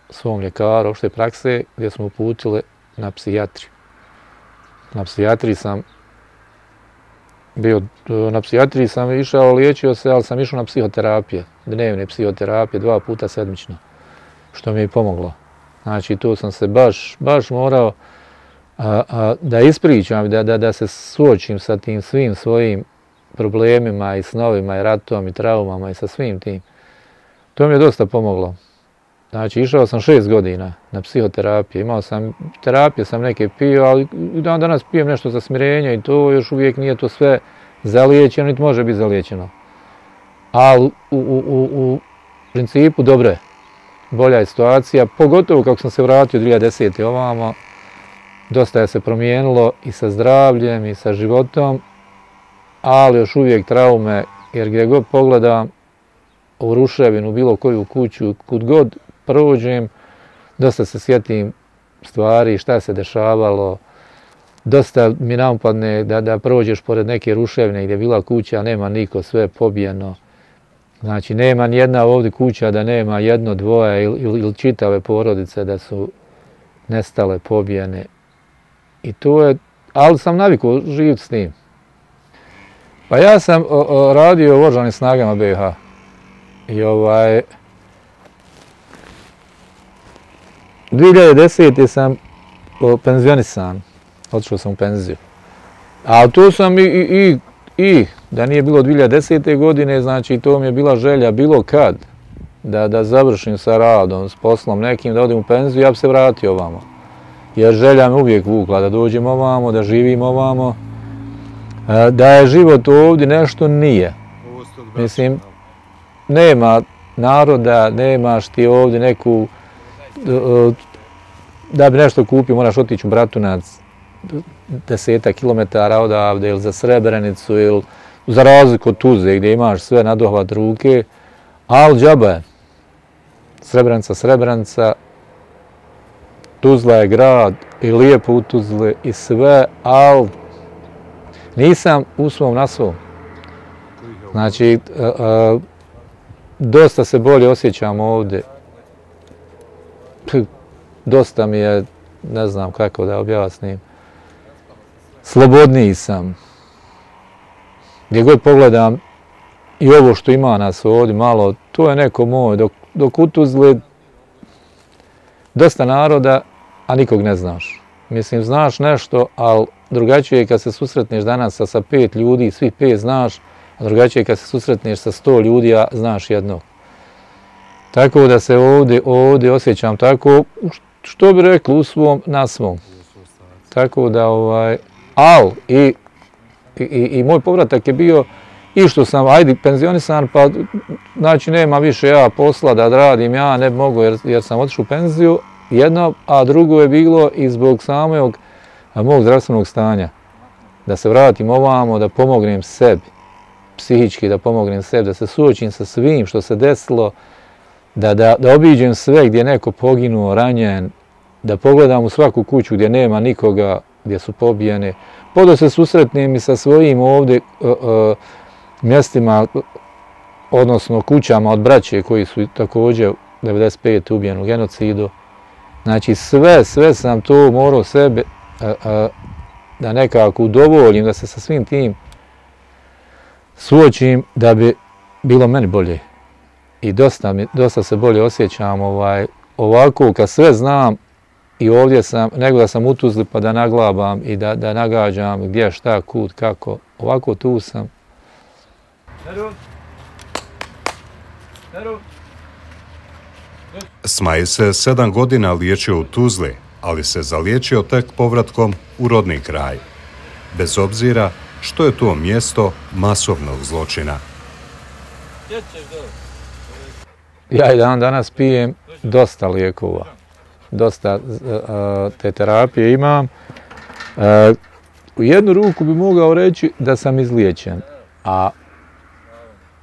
svom ljekaru opšte prakse, gdje smo uputili na psihijatriju. Na psihijatriji sam bio, na psihijatriji sam išao, liječio se, ali sam išao na psihoterapije, dnevne psihoterapije, dva puta sedmično, što mi je pomoglo. Znači, tu sam se baš, baš morao a, a, da ispričam, da, da, da se suočim sa tim svim svojim problemima i snovima i ratom i traumama i sa svim tim. To mi je dosta pomoglo. Znači, išao sam šest godina na psihoterapije, imao sam, terapije sam neke pio, ali dan danas pijem nešto za smirenje i to još uvijek nije to sve zaliječeno, niti može biti zaliječeno. Ali u, u, u, u principu dobro je. Bolja je situacija, pogotovo kako sam se vratio dvije hiljade desete ovamo, dosta je se promijenilo i sa zdravljem i sa životom, ali još uvijek traume, jer gdje god pogledam u ruševinu, bilo koju kuću, kud god prođem, dosta se sjetim stvari, šta se dešavalo, dosta mi napadne da, da prođeš pored neke ruševine gdje je bila kuća, nema niko, sve je pobijeno. Znači, nema nijedna ovdje kuća da nema jedno, dvoje ili, ili, ili čitave porodice da su nestale, pobijene. I to je, ali sam navikao živjeti s tim. Pa ja sam o, o, radio u oružanim snagama B i H. I ovaj... dvije hiljade desete sam o, penzionisan, otišao sam u penziju. A tu sam i, i, i I da nije bilo dvije hiljade desete godine, znači to mi je bila želja bilo kad da, da završim sa radom, s poslom nekim, da odem u penziju, ja bi se vratio ovamo. Jer želja me uvijek vukla da dođem ovamo, da živim ovamo. Da je život ovdje nešto nije. Mislim, nema naroda, nemaš ti ovdje neku... Da bi nešto kupio, moraš otići u Bratunac, deseta kilometara odavde, ili za Srebrenicu, ili za razliku od Tuzle, gdje imaš sve na dohvat ruke, ali džaba je. Srebrenica, Srebrenica, Tuzla je grad i lijepo u Tuzli i sve, ali nisam u svom na svom. Znači, a, a, dosta se bolje osjećam ovdje. Dosta mi je, ne znam kako da objasnim, slobodniji sam. Gdje god pogledam i ovo što ima nas ovdje malo, to je neko moj. Dok, dok u Tuzli dosta naroda, a nikog ne znaš. Mislim, znaš nešto, ali drugačije je kad se susretneš danas sa, sa pet ljudi, svih pet znaš, a drugačije je kad se susretneš sa sto ljudi, a znaš jednog. Tako da se ovdje, ovdje osjećam tako, što bi rekli, u svom, na svom. Tako da, ovaj, al, i, i, i moj povratak je bio i što sam, ajde, penzionisan, pa znači nema više ja posla da radim, ja ne mogu jer, jer sam otišao u penziju, jedno, a drugo je bilo i zbog samog mog zdravstvenog stanja. Da se vratim ovamo, da pomognem sebi, psihički da pomognem sebi, da se suočim sa svim što se desilo, da, da, da obiđem sve gdje je neko poginuo, ranjen, da pogledam u svaku kuću gdje nema nikoga, gdje su pobijene, pa da se susretnem i sa svojim ovdje uh, uh, mjestima, odnosno kućama od braće koji su također devedeset pete ubijeni u genocidu. Znači sve, sve sam to morao sebe uh, uh, da nekako udovoljim, da se sa svim tim suočim da bi bilo meni bolje. I dosta, mi, dosta se bolje osjećam, ovaj, ovako kad sve znam i ovdje sam, nego da sam u Tuzli pa da naglabam i da, da nagađam gdje, šta, kud, kako. Ovako tu sam. Smaj se sedam godina liječio u Tuzli, ali se zaliječio tek povratkom u rodni kraj. Bez obzira što je to mjesto masovnog zločina. Ja i dan danas pijem dosta lijekova. Dosta uh, te terapije imam. Uh, u jednu ruku bi mogao reći da sam izliječen, a,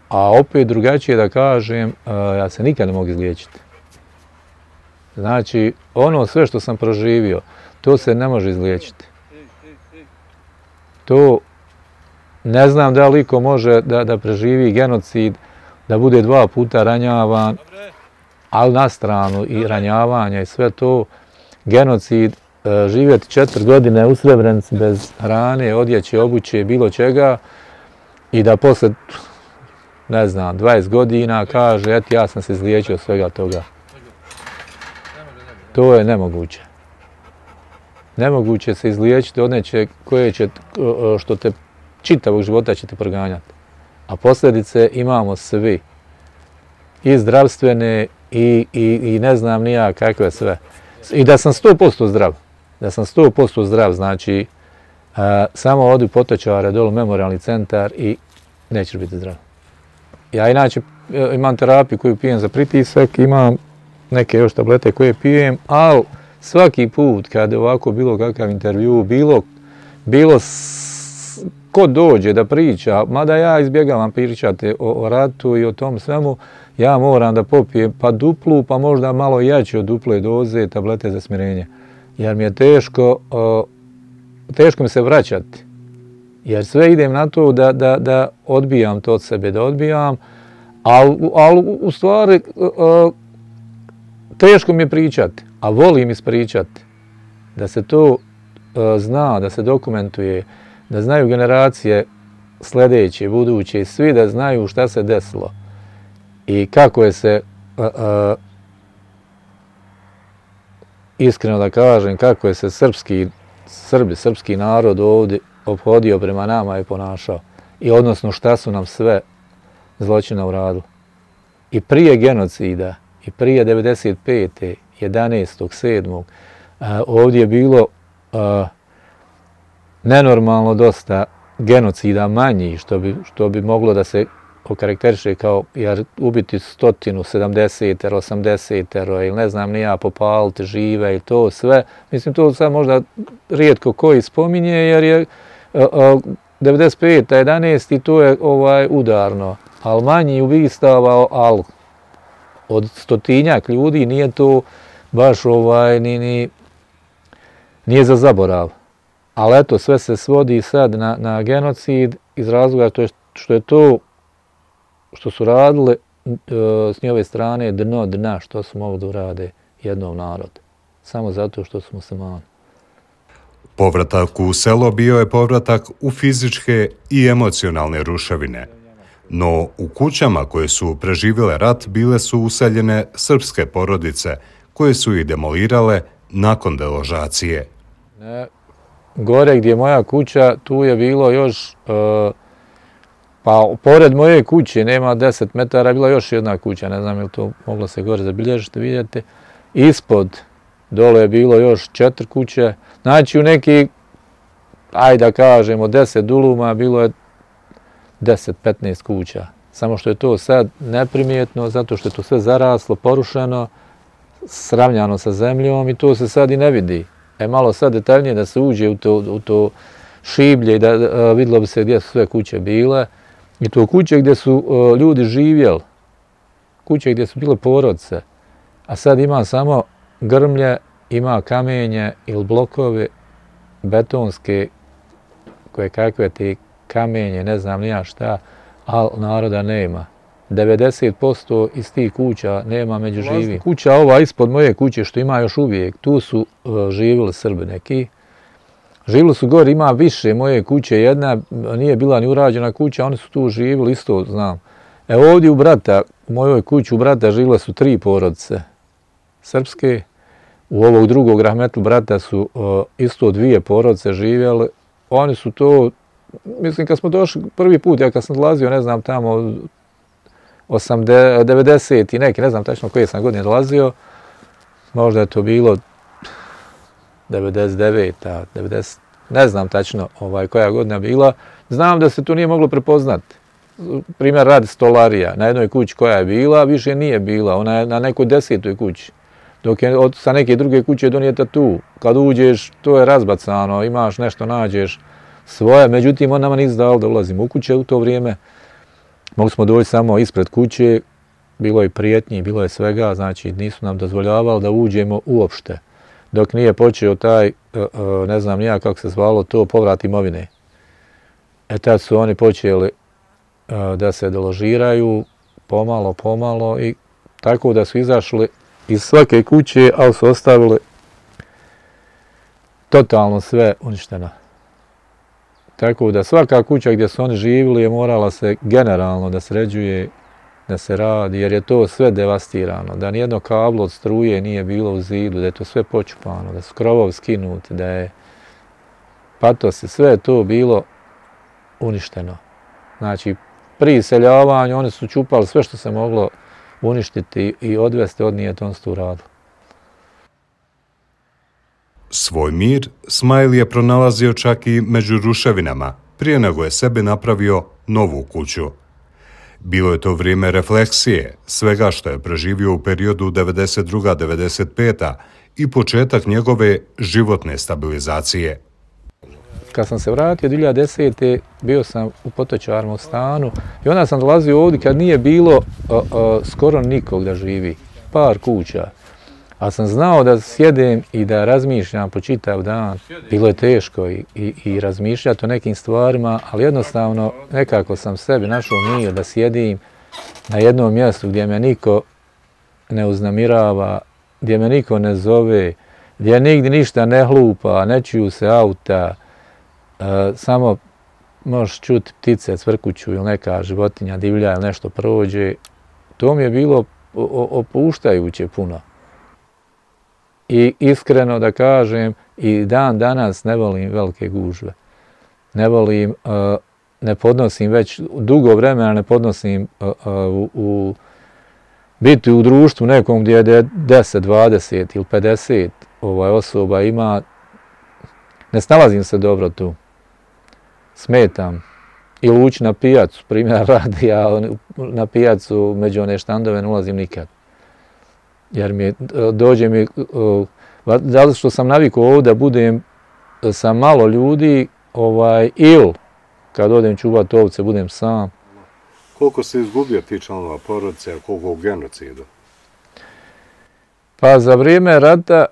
a opet drugačije da kažem, uh, ja se nikad ne mogu izliječiti. Znači, ono sve što sam proživio, to se ne može izliječiti. To ne znam da li iko može da, da preživi genocid, da bude dva puta ranjavan, ali na stranu i ranjavanja i sve to, genocid, e, živjeti četiri godine u Srebrenici bez hrane, odjeće, obuće, bilo čega i da posle, ne znam, dvadeset godina kaže, eto ja sam se izliječio svega toga. To je nemoguće. Nemoguće se izliječiti od nečeg koje će, što te čitavog života će te proganjati. A posljedice imamo svi. I zdravstvene, i, i, i ne znam ni ja kakve sve. I da sam sto posto zdrav. Da sam sto posto zdrav, znači a, samo odi Potočare, dolu memorialni centar i nećeš biti zdrav. Ja inače imam terapiju koju pijem za pritisak, imam neke još tablete koje pijem, ali svaki put kad je ovako bilo kakav intervju, bilo, bilo s, ko dođe da priča, mada ja izbjegavam pričati o, o ratu i o tom svemu, ja moram da popijem pa duplu, pa možda malo jače od duple doze tablete za smirenje. Jer mi je teško, o, teško mi se vraćati. Jer sve idem na to da, da, da odbijam to od sebe, da odbijam, ali al, u stvari o, teško mi je pričati, a volim ispričati. Da se to uh, zna, da se dokumentuje, da znaju generacije sljedeće, buduće, svi da znaju šta se desilo i kako je se, uh, uh, iskreno da kažem, kako je se srpski, Srbi, srpski narod ovdje ophodio prema nama i ponašao. I odnosno šta su nam sve zločina uradili. I prije genocida, i prije devedeset pete jedanaestog sedmog ovdje je bilo a, nenormalno dosta genocida manji, što bi, što bi moglo da se okarakteriše kao jer ubiti stotinu, sedamdeset, osamdeset ili ne znam ni ja, popaliti žive i to sve. Mislim, to sad možda rijetko koji spominje jer je a, a, devedeset peta jedanaesta i to je ovaj, udarno, ali manji ubistava, ali od stotinjak ljudi nije to baš ovaj, ni, ni, nije za zaborav. Ali eto, sve se svodi sad na, na genocid iz razloga to je, što je to što su radili e, s njove strane dno dna što su mogli da urade jednom narodu. Samo zato što su muslimani. Povratak u selo bio je povratak u fizičke i emocionalne ruševine. No u kućama koje su preživjele rat bile su useljene srpske porodice koje su ih demolirale nakon deložacije. Ne, gore gdje je moja kuća, tu je bilo još, e, pa pored moje kuće, nema deset metara, bila još jedna kuća, ne znam je li to moglo se gore zabilježiti, vidjeti. Ispod, dole je bilo još četiri kuće, znači u neki, ajde da kažemo, deset duluma bilo je deset petnaest kuća. Samo što je to sad neprimjetno, zato što je to sve zaraslo, porušeno, sravnjano sa zemljom i to se sad i ne vidi. E malo sad detaljnije da se uđe u to, u to šiblje i da a, vidjelo bi se gdje su sve kuće bile. I to kuće gdje su a, ljudi živjeli, kuće gdje su bile porodice. A sad ima samo grmlje, ima kamenje ili blokovi betonske, koje kakve te kamenje, ne znam nija šta, ali naroda nema. devedeset posto iz tih kuća nema među živim. Kuća ova ispod moje kuće što ima još uvijek, tu su uh, živjeli Srbi neki. Živjeli su gore, ima više moje kuće, jedna nije bila ni urađena kuća, oni su tu živjeli, isto znam. E ovdje u brata, u mojoj kući u brata živjele su tri porodice. srpske. U ovog drugog rahmetli brata su isto dvije porodice živjeli. Oni su to, mislim kad smo došli prvi put, ja kad sam dolazio, ne znam, tamo devedeset i neki, ne znam tačno koje sam godine dolazio, možda je to bilo devedeset deveta, devedeset, ne znam tačno ovaj, koja godina bila. Znam da se to nije moglo prepoznati. Primjer radi stolarija na jednoj kući koja je bila, više nije bila, ona je na nekoj desetoj kući. Dok je od, sa neke druge kuće donijeta tu. Kad uđeš, to je razbacano, imaš nešto, nađeš svoje. Međutim, on nama nisu dao da ulazimo u kuće u to vrijeme. Mogli smo doći samo ispred kuće, bilo je prijetnji, bilo je svega, znači nisu nam dozvoljavali da uđemo uopšte. Dok nije počeo taj, ne znam nija kako se zvalo to, povrat imovine. E tad su oni počeli da se deložiraju, pomalo, pomalo i tako da su izašli iz svake kuće, ali su ostavili totalno sve uništeno. Tako da svaka kuća gdje su oni živjeli je morala se generalno da sređuje, da se radi, jer je to sve devastirano, da nijedno kablo od struje nije bilo u zidu, da je to sve počupano, da su krovovi skinuti, da je patosi, sve je to bilo uništeno. Znači, pri iseljavanju oni su čupali sve što se moglo uništiti i odvesti, odnijeti, on su to uradili. Svoj mir Smajl je pronalazio čak i među ruševinama, prije nego je sebi napravio novu kuću. Bilo je to vrijeme refleksije, svega što je preživio u periodu devedeset druga devedeset peta i početak njegove životne stabilizacije. Kad sam se vratio dvije hiljade desete. bio sam u Potočarnom stanu i onda sam dolazio ovdje kad nije bilo a, a, skoro nikog da živi, par kuća. A sam znao da sjedem i da razmišljam po čitav dan. Bilo je teško i, i, i razmišljati o nekim stvarima, ali jednostavno nekako sam sebi našao mir da sjedim na jednom mjestu gdje me niko ne uznamirava, gdje me niko ne zove, gdje nigdje ništa ne hlupa, ne čuju se auta, uh, samo možeš čuti ptice cvrkuću ili neka životinja divlja ili nešto prođe. To mi je bilo opuštajuće puno. I iskreno da kažem, i dan danas ne volim velike gužve. Ne volim, uh, ne podnosim već dugo vremena, ne podnosim uh, uh, u, u biti u društvu nekom gdje je deset, dvadeset ili pedeset ovaj, osoba ima. Ne snalazim se dobro tu. Smetam. Ili ući na pijacu, primjer radi, ja na pijacu među one štandove ne ulazim nikad. Jer mi dođe mi, zato što sam navikao ovdje da budem sa malo ljudi, ovaj, ili kad odem čuvati ovce budem sam. Koliko se izgubio ti članova porodice, a koliko u genocidu? Pa za vrijeme rata,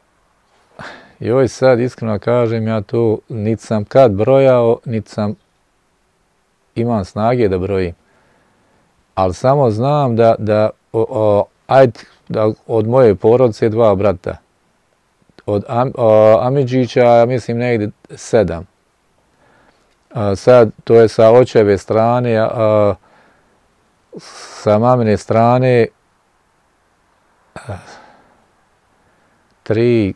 joj sad iskreno kažem, ja to niti sam kad brojao, niti sam imam snage da brojim. Ali samo znam da, da o, o, ajde, da od moje porodice dva brata. Od Am, o, Amidžića, mislim, negdje sedam. A, sad, to je sa očeve strane, a, sa mamine strane a, tri,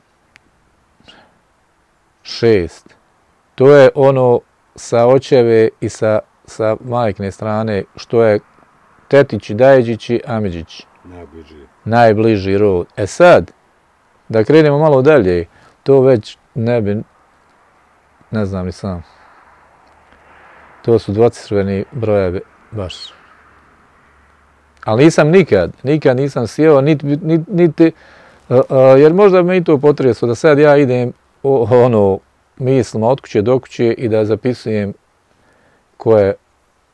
šest. To je ono sa očeve i sa, sa majkine strane, što je tetići, dajeđići, Amidžići. Najbliži. Najbliži rod. E sad, da krenemo malo dalje, to već ne bi, ne znam ni sam. To su dvocifreni brojevi baš. Ali nisam nikad, nikad nisam sjeo, niti, niti, niti uh, uh, jer možda me i to potreslo da sad ja idem o, ono, mislima od kuće do kuće i da zapisujem ko je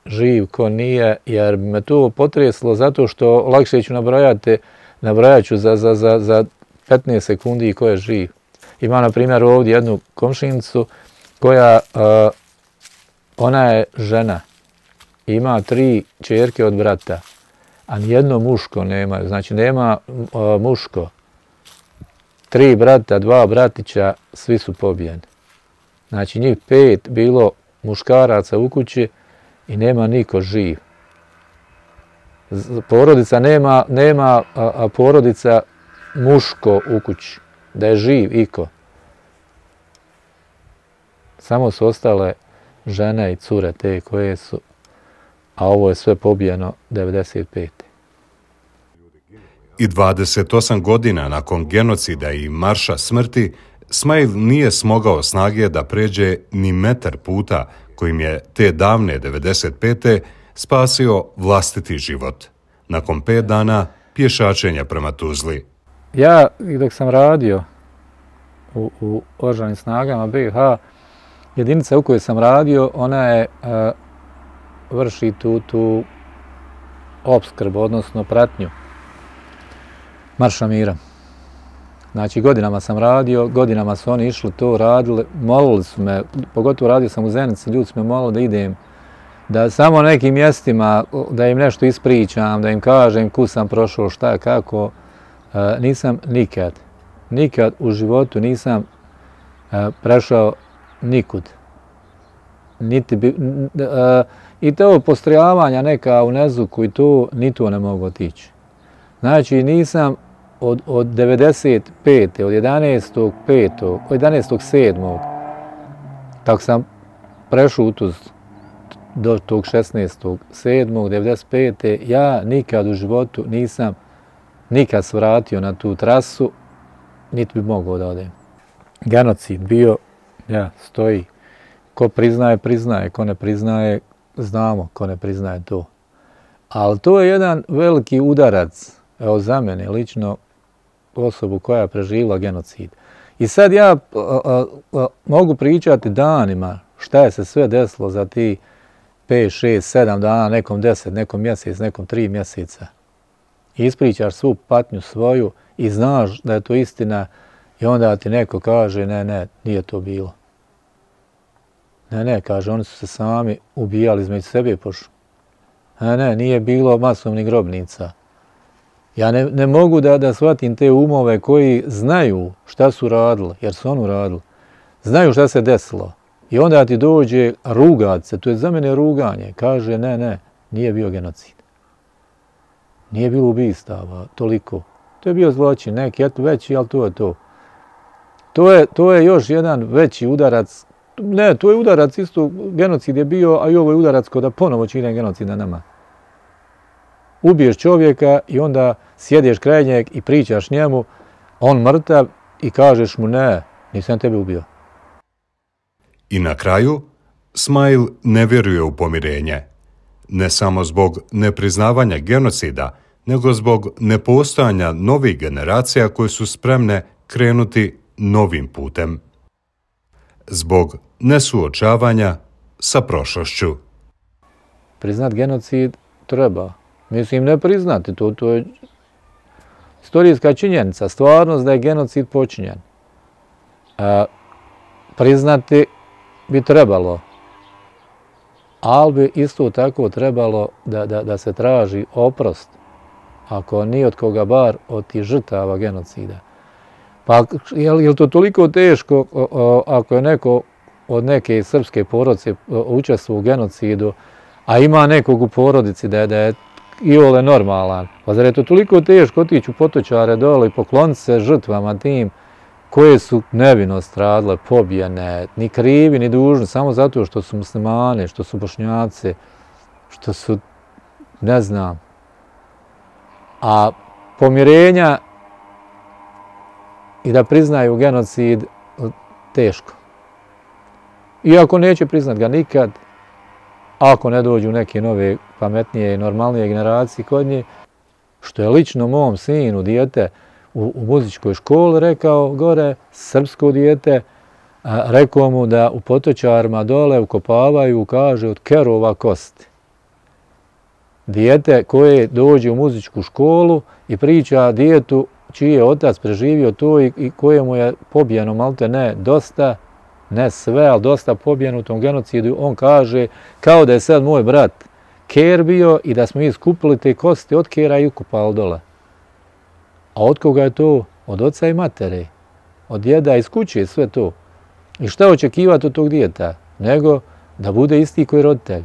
živ, ko nije, jer me to potreslo zato što lakše ću nabrojati, nabrojat ću za, za, za, za petnaest sekundi ko je živ. Ima, na primjer, ovdje jednu komšinicu koja, uh, ona je žena, ima tri ćerke od brata, a nijedno muško nema, znači nema uh, muško. Tri brata, dva bratića, svi su pobijeni. Znači njih pet bilo muškaraca u kući i nema niko živ. Porodica nema, nema a, a porodica muško u kući, da je živ iko. Samo su ostale žene i cure te koje su, a ovo je sve pobijeno devedeset pete. I dvadeset osam godina nakon genocida i marša smrti, Smail nije smogao snage da pređe ni metar puta kojim je te davne devedeset pete spasio vlastiti život. Nakon pet dana pješačenja prema Tuzli. Ja, dok sam radio u, u oružanim snagama B i H, jedinica u kojoj sam radio, ona je uh, vrši tu, tu opskrbu, odnosno pratnju Marša mira. Znači, godinama sam radio, godinama su oni išli to radili, molili su me, pogotovo radio sam u Zenici, ljudi su me molili da idem, da samo nekim mjestima, da im nešto ispričam, da im kažem ku sam prošao, šta, kako. Uh, nisam nikad, nikad u životu nisam uh, prešao nikud. Niti bi, uh, I to postrojavanja neka u Nezuku i to, ni to ne mogu otići. Znači, nisam od, od devedeset pete, od jedanaestog petog, od jedanaestog sedmog tako sam prešao u Tuzlu do tog šesnaestog sedmog devedeset pete ja nikad u životu nisam nikad se vratio na tu trasu, niti bi mogao da odem. Genocid bio, ja, stoji. Ko priznaje, priznaje. Ko ne priznaje, znamo ko ne priznaje to. Ali to je jedan veliki udarac, evo za mene, lično osobu koja je preživjela genocid. I sad ja a, a, a, mogu pričati danima šta je se sve desilo za ti pet, šest, sedam dana, nekom deset, nekom mjesec, nekom tri mjeseca. I ispričaš svu patnju svoju i znaš da je to istina i onda ti neko kaže ne, ne, nije to bilo. Ne, ne, kaže, oni su se sami ubijali između sebe pošli. Ne, ne, nije bilo masovnih grobnica. Ja ne, ne mogu da, da shvatim te umove koji znaju šta su radili, jer su oni radili. Znaju šta se desilo. I onda ti dođe rugat se, to je za mene ruganje. Kaže, ne, ne, nije bio genocid. Nije bilo ubistava, toliko. To je bio zločin, neki eto veći, ali to je to. To je, to je još jedan veći udarac. Ne, to je udarac isto, genocid je bio, a i ovo je udarac kod da ponovo čine genocid na nama. Ubiješ čovjeka i onda sjedeš kraj njeg i pričaš njemu, on mrtav i kažeš mu ne, nisam tebe ubio. I na kraju, Smail ne vjeruje u pomirenje. Ne samo zbog nepriznavanja genocida, nego zbog nepostojanja novih generacija koje su spremne krenuti novim putem. Zbog nesuočavanja sa prošlošću. Priznat genocid treba. Mislim, ne priznati to, to je istorijska činjenica, stvarnost da je genocid počinjen. E, priznati bi trebalo, ali bi isto tako trebalo da, da, da se traži oprost, ako nije od koga bar od tih žrtava genocida. Pa je li to toliko teško o, o, ako je neko od neke srpske porodice učestvovao u genocidu, a ima nekog u porodici da je, da je iole normalan. Pa zar je to toliko teško otići u Potočare dole i pokloniti se žrtvama tim koje su nevino stradile, pobijene, ni krivi, ni dužni, samo zato što su muslimani, što su bošnjaci, što su, ne znam. A pomirenja i da priznaju genocid, teško. Iako neće priznat ga nikad, ako ne dođu neke nove, pametnije i normalnije generacije kod nje, što je lično mom sinu, dijete, u, u muzičkoj školi rekao gore, srpsko dijete, a, rekao mu da u Potočarima dole ukopavaju, kaže, od kerova kosti. Dijete koje dođe u muzičku školu i priča dijetu čiji je otac preživio to i, i kojemu je pobijeno malte ne dosta, ne sve, ali dosta pobijeno u tom genocidu, on kaže kao da je sad moj brat ker bio i da smo mi skupili te kosti od kera i ukopali dole. A od koga je to? Od oca i matere, od djeda iz kuće, sve to. I šta očekivati od tog dijeta? Nego da bude isti koji roditelj.